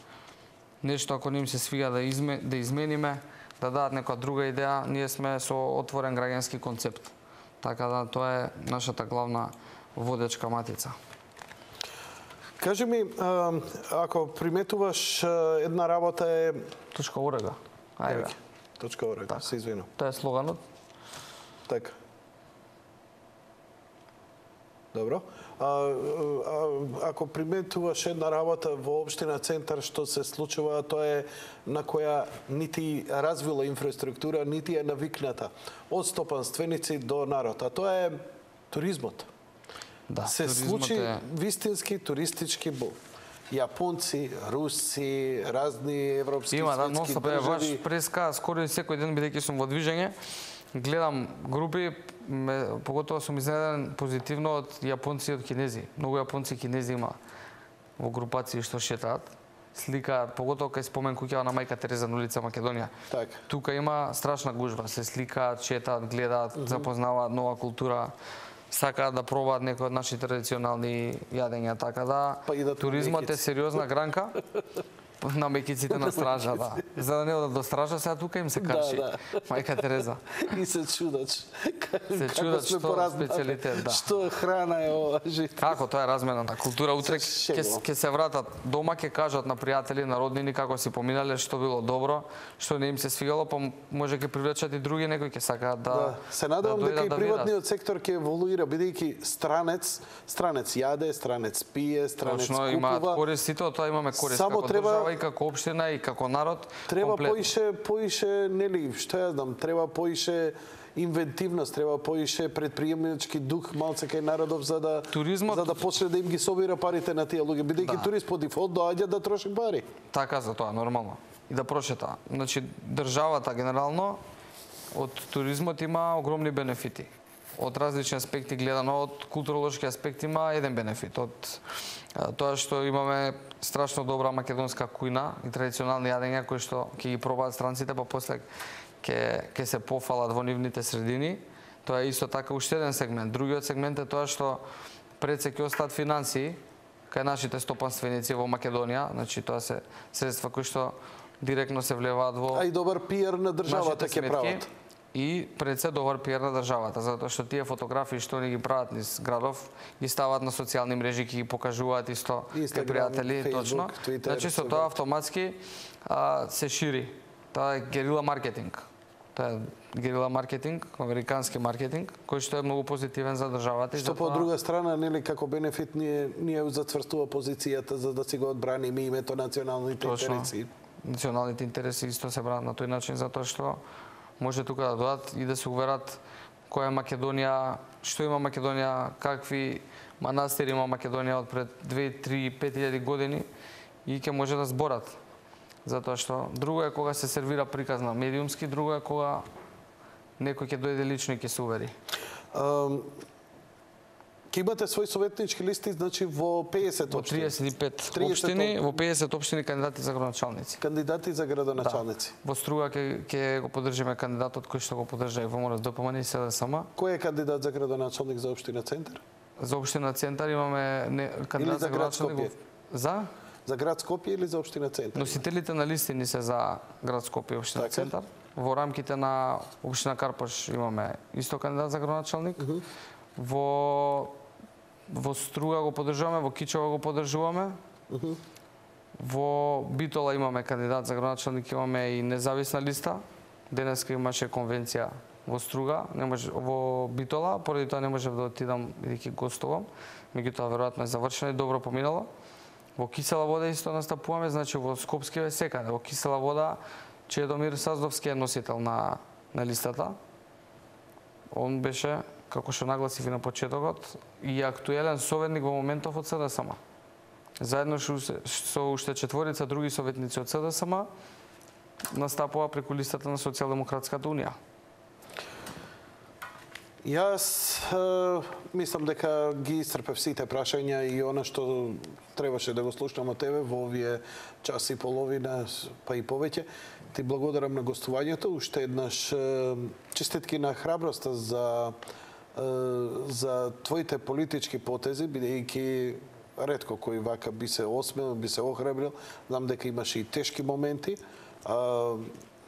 нешто ако не им се свига да изме, да измениме, да дадат некоја друга идеја, ние сме со отворен граѓански концепт. Така да тоа е нашата главна водечка матица. Кажи ми, ако приметуваш една работа е Точка о р г. Ајде. Точка о р г. Се извинувам. Тоа е слоганот. Така. Добро. А, а, ако приметуваш една работа во општина Центар што се случува, тоа е на која нити развила инфраструктура, нити е навикната од стопанственици до народ, а тоа е туризмот. Да, се случи е... вистински туристички бум. Јапонци, руси, разни европски Има, да, светски носта, држави. Ваш преска, скоро и секој ден бидејќи сум во движење, гледам групи, ме, поготово сум изненаден позитивно од јапонци и од кинези. Многу јапонци и кинези има во групации што шетаат, сликаат, поготово кај спомен куќава на мајка Тереза на улица Македонија. Так. Тука има страшна гужва, се сликаат, шетаат, гледаат, mm -hmm. запознаваат нова култура, сакаат да пробаат некои од нашите традиционални јадења, така да, па да туризмот е сериозна гранка. На мекиците на стража, да. За да не одат до стража, сега тука им се карши. Да, да. Мајка Тереза. И се чудач. Се чудат што специјалитет, да. Што храна е ова жит. Како тоа е размената култура, утре ќе ќе се вратат дома, ќе кажат на пријатели, на роднини како си поминале, што било добро, што не им се свигало, па може ќе привлечат и други некои ќе сакаат да. Да. Се надевам да дека и да приватниот сектор ќе еволуира бидејќи странец, странец јаде, странец пие, странец Точно, купува. имаат корист и тоа, тоа имаме корист Само како треба... држава и како општина и како народ. Треба комплетно. поише, поише, нели, што ја знам, треба поише инвентивност, треба поише предприемнички дух малце кај народов за да Туризмот... за да почне да им ги собира парите на тие луѓе, бидејќи да. Турист по дефолт доаѓа да троши пари. Така за тоа нормално. И да прошета. Значи државата генерално од туризмот има огромни бенефити. Од различни аспекти гледано, од културолошки аспект има еден бенефит. Од тоа што имаме страшно добра македонска кујна и традиционални јадења кои што ќе ги пробаат странците, па после ќе ќе се пофалат во нивните средини. Тоа е исто така уште еден сегмент. Другиот сегмент е тоа што пред се ќе остат финансии кај нашите стопанственици во Македонија, значи тоа се средства кои што директно се влеваат во А и добар пиар на државата ќе прават. И пред се добар пиар на државата, затоа што тие фотографии што ни ги прават низ градов, ги стават на социјални мрежи, ќе ги покажуваат исто кај пријатели, точно. Twitter, значи со тоа автоматски а, се шири. Тоа е герила маркетинг. Тоа е герила маркетинг, американски маркетинг, кој што е многу позитивен за државата. Што по друга страна, нели како бенефит ние ние зацврстува позицијата за да си го одбраниме името националните Точно. интереси. Националните интереси исто се бранат на тој начин затоа што може тука да дојдат и да се уверат која е Македонија, што има Македонија, какви манастири има Македонија од пред две, три, пет илјади години и ќе може да зборат. Затоа што друго е кога се сервира приказ на медиумски, друго е кога некој ќе дојде лично и ќе се увери. Um... Ке имате свој советнички листи, значи во пеесет општини. Во триесет и пет општини, во пеесет општини кандидати за градоначалници. Кандидати за градоначалници. Да. Во Струга ќе ќе го поддржиме кандидатот кој што го поддржа и во МОРС Д П М Н и С Д С М. Кој е кандидат за градоначалник за општина Центар? За општина Центар имаме не, кандидат за, за град Скопје. За За град Скопје или за општина Центар? Носителите на листи ни се за град Скопје и општина така? Центар. Во рамките на општина Карпош имаме исто кандидат за градоначалник. Uh -huh. Во во Струга го поддржуваме, во Кичево го поддржуваме. Uh -huh. Во Битола имаме кандидат за градоначалник, имаме и независна листа. Денеска имаше конвенција во Струга, не може во Битола, поради тоа не можев да отидам бидејќи гостувам. Меѓутоа веројатно е завршено и добро поминало. Во Кисела вода исто настапуваме, значи во Скопски е секаде. Во Кисела вода Чедомир Саздовски е носител на на листата. Он беше, како што нагласив и на почетокот, и актуелен советник во моментов од СДСМ. Заедно со уште четворица други советници од СДСМ настапува преку листата на Социјалдемократската унија. Јас е, мислам дека ги исцрпев сите прашања и она што требаше да го слушнам од тебе во овие час и половина, па и повеќе. Ти благодарам на гостувањето. Уште еднаш е, честитки на храброста за е, за твоите политички потези, бидејќи ретко кој вака би се осмел, би се охрабрил. Знам дека имаше и тешки моменти, а,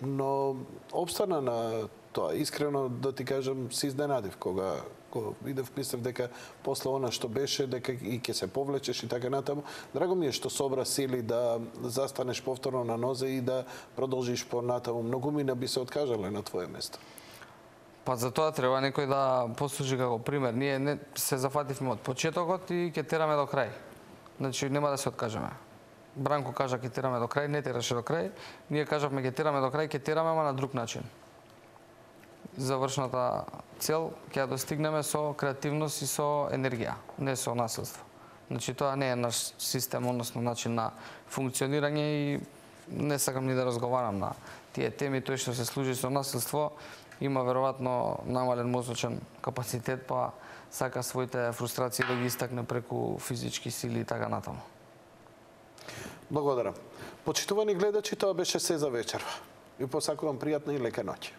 но обстана на тоа. Искрено да ти кажам, се изненадив кога го видев, мислев дека после она што беше, дека и ќе се повлечеш и така натаму. Драго ми е што собра сили да застанеш повторно на нозе и да продолжиш понатаму. Многу мина би се откажале на твое место. Па за тоа треба некој да послужи како пример. Ние не се зафативме од почетокот и ќе тераме до крај. Значи нема да се откажеме. Бранко кажа ќе тераме до крај, не тераше до крај. Ние кажавме ќе тераме до крај, ќе тераме, ама на друг начин. Завршната цел ќе ја достигнеме со креативност и со енергија, не со насилство. Значи тоа не е наш систем, односно начин на функционирање и не сакам ни да разговарам на тие теми. Тој што се служи со насилство има веројатно намален мозочен капацитет, па сака своите фрустрации да ги истакне преку физички сили и така натаму. Благодарам. Почитувани гледачи, тоа беше се за вечерва. Ви посакувам пријатна и лека ноќ.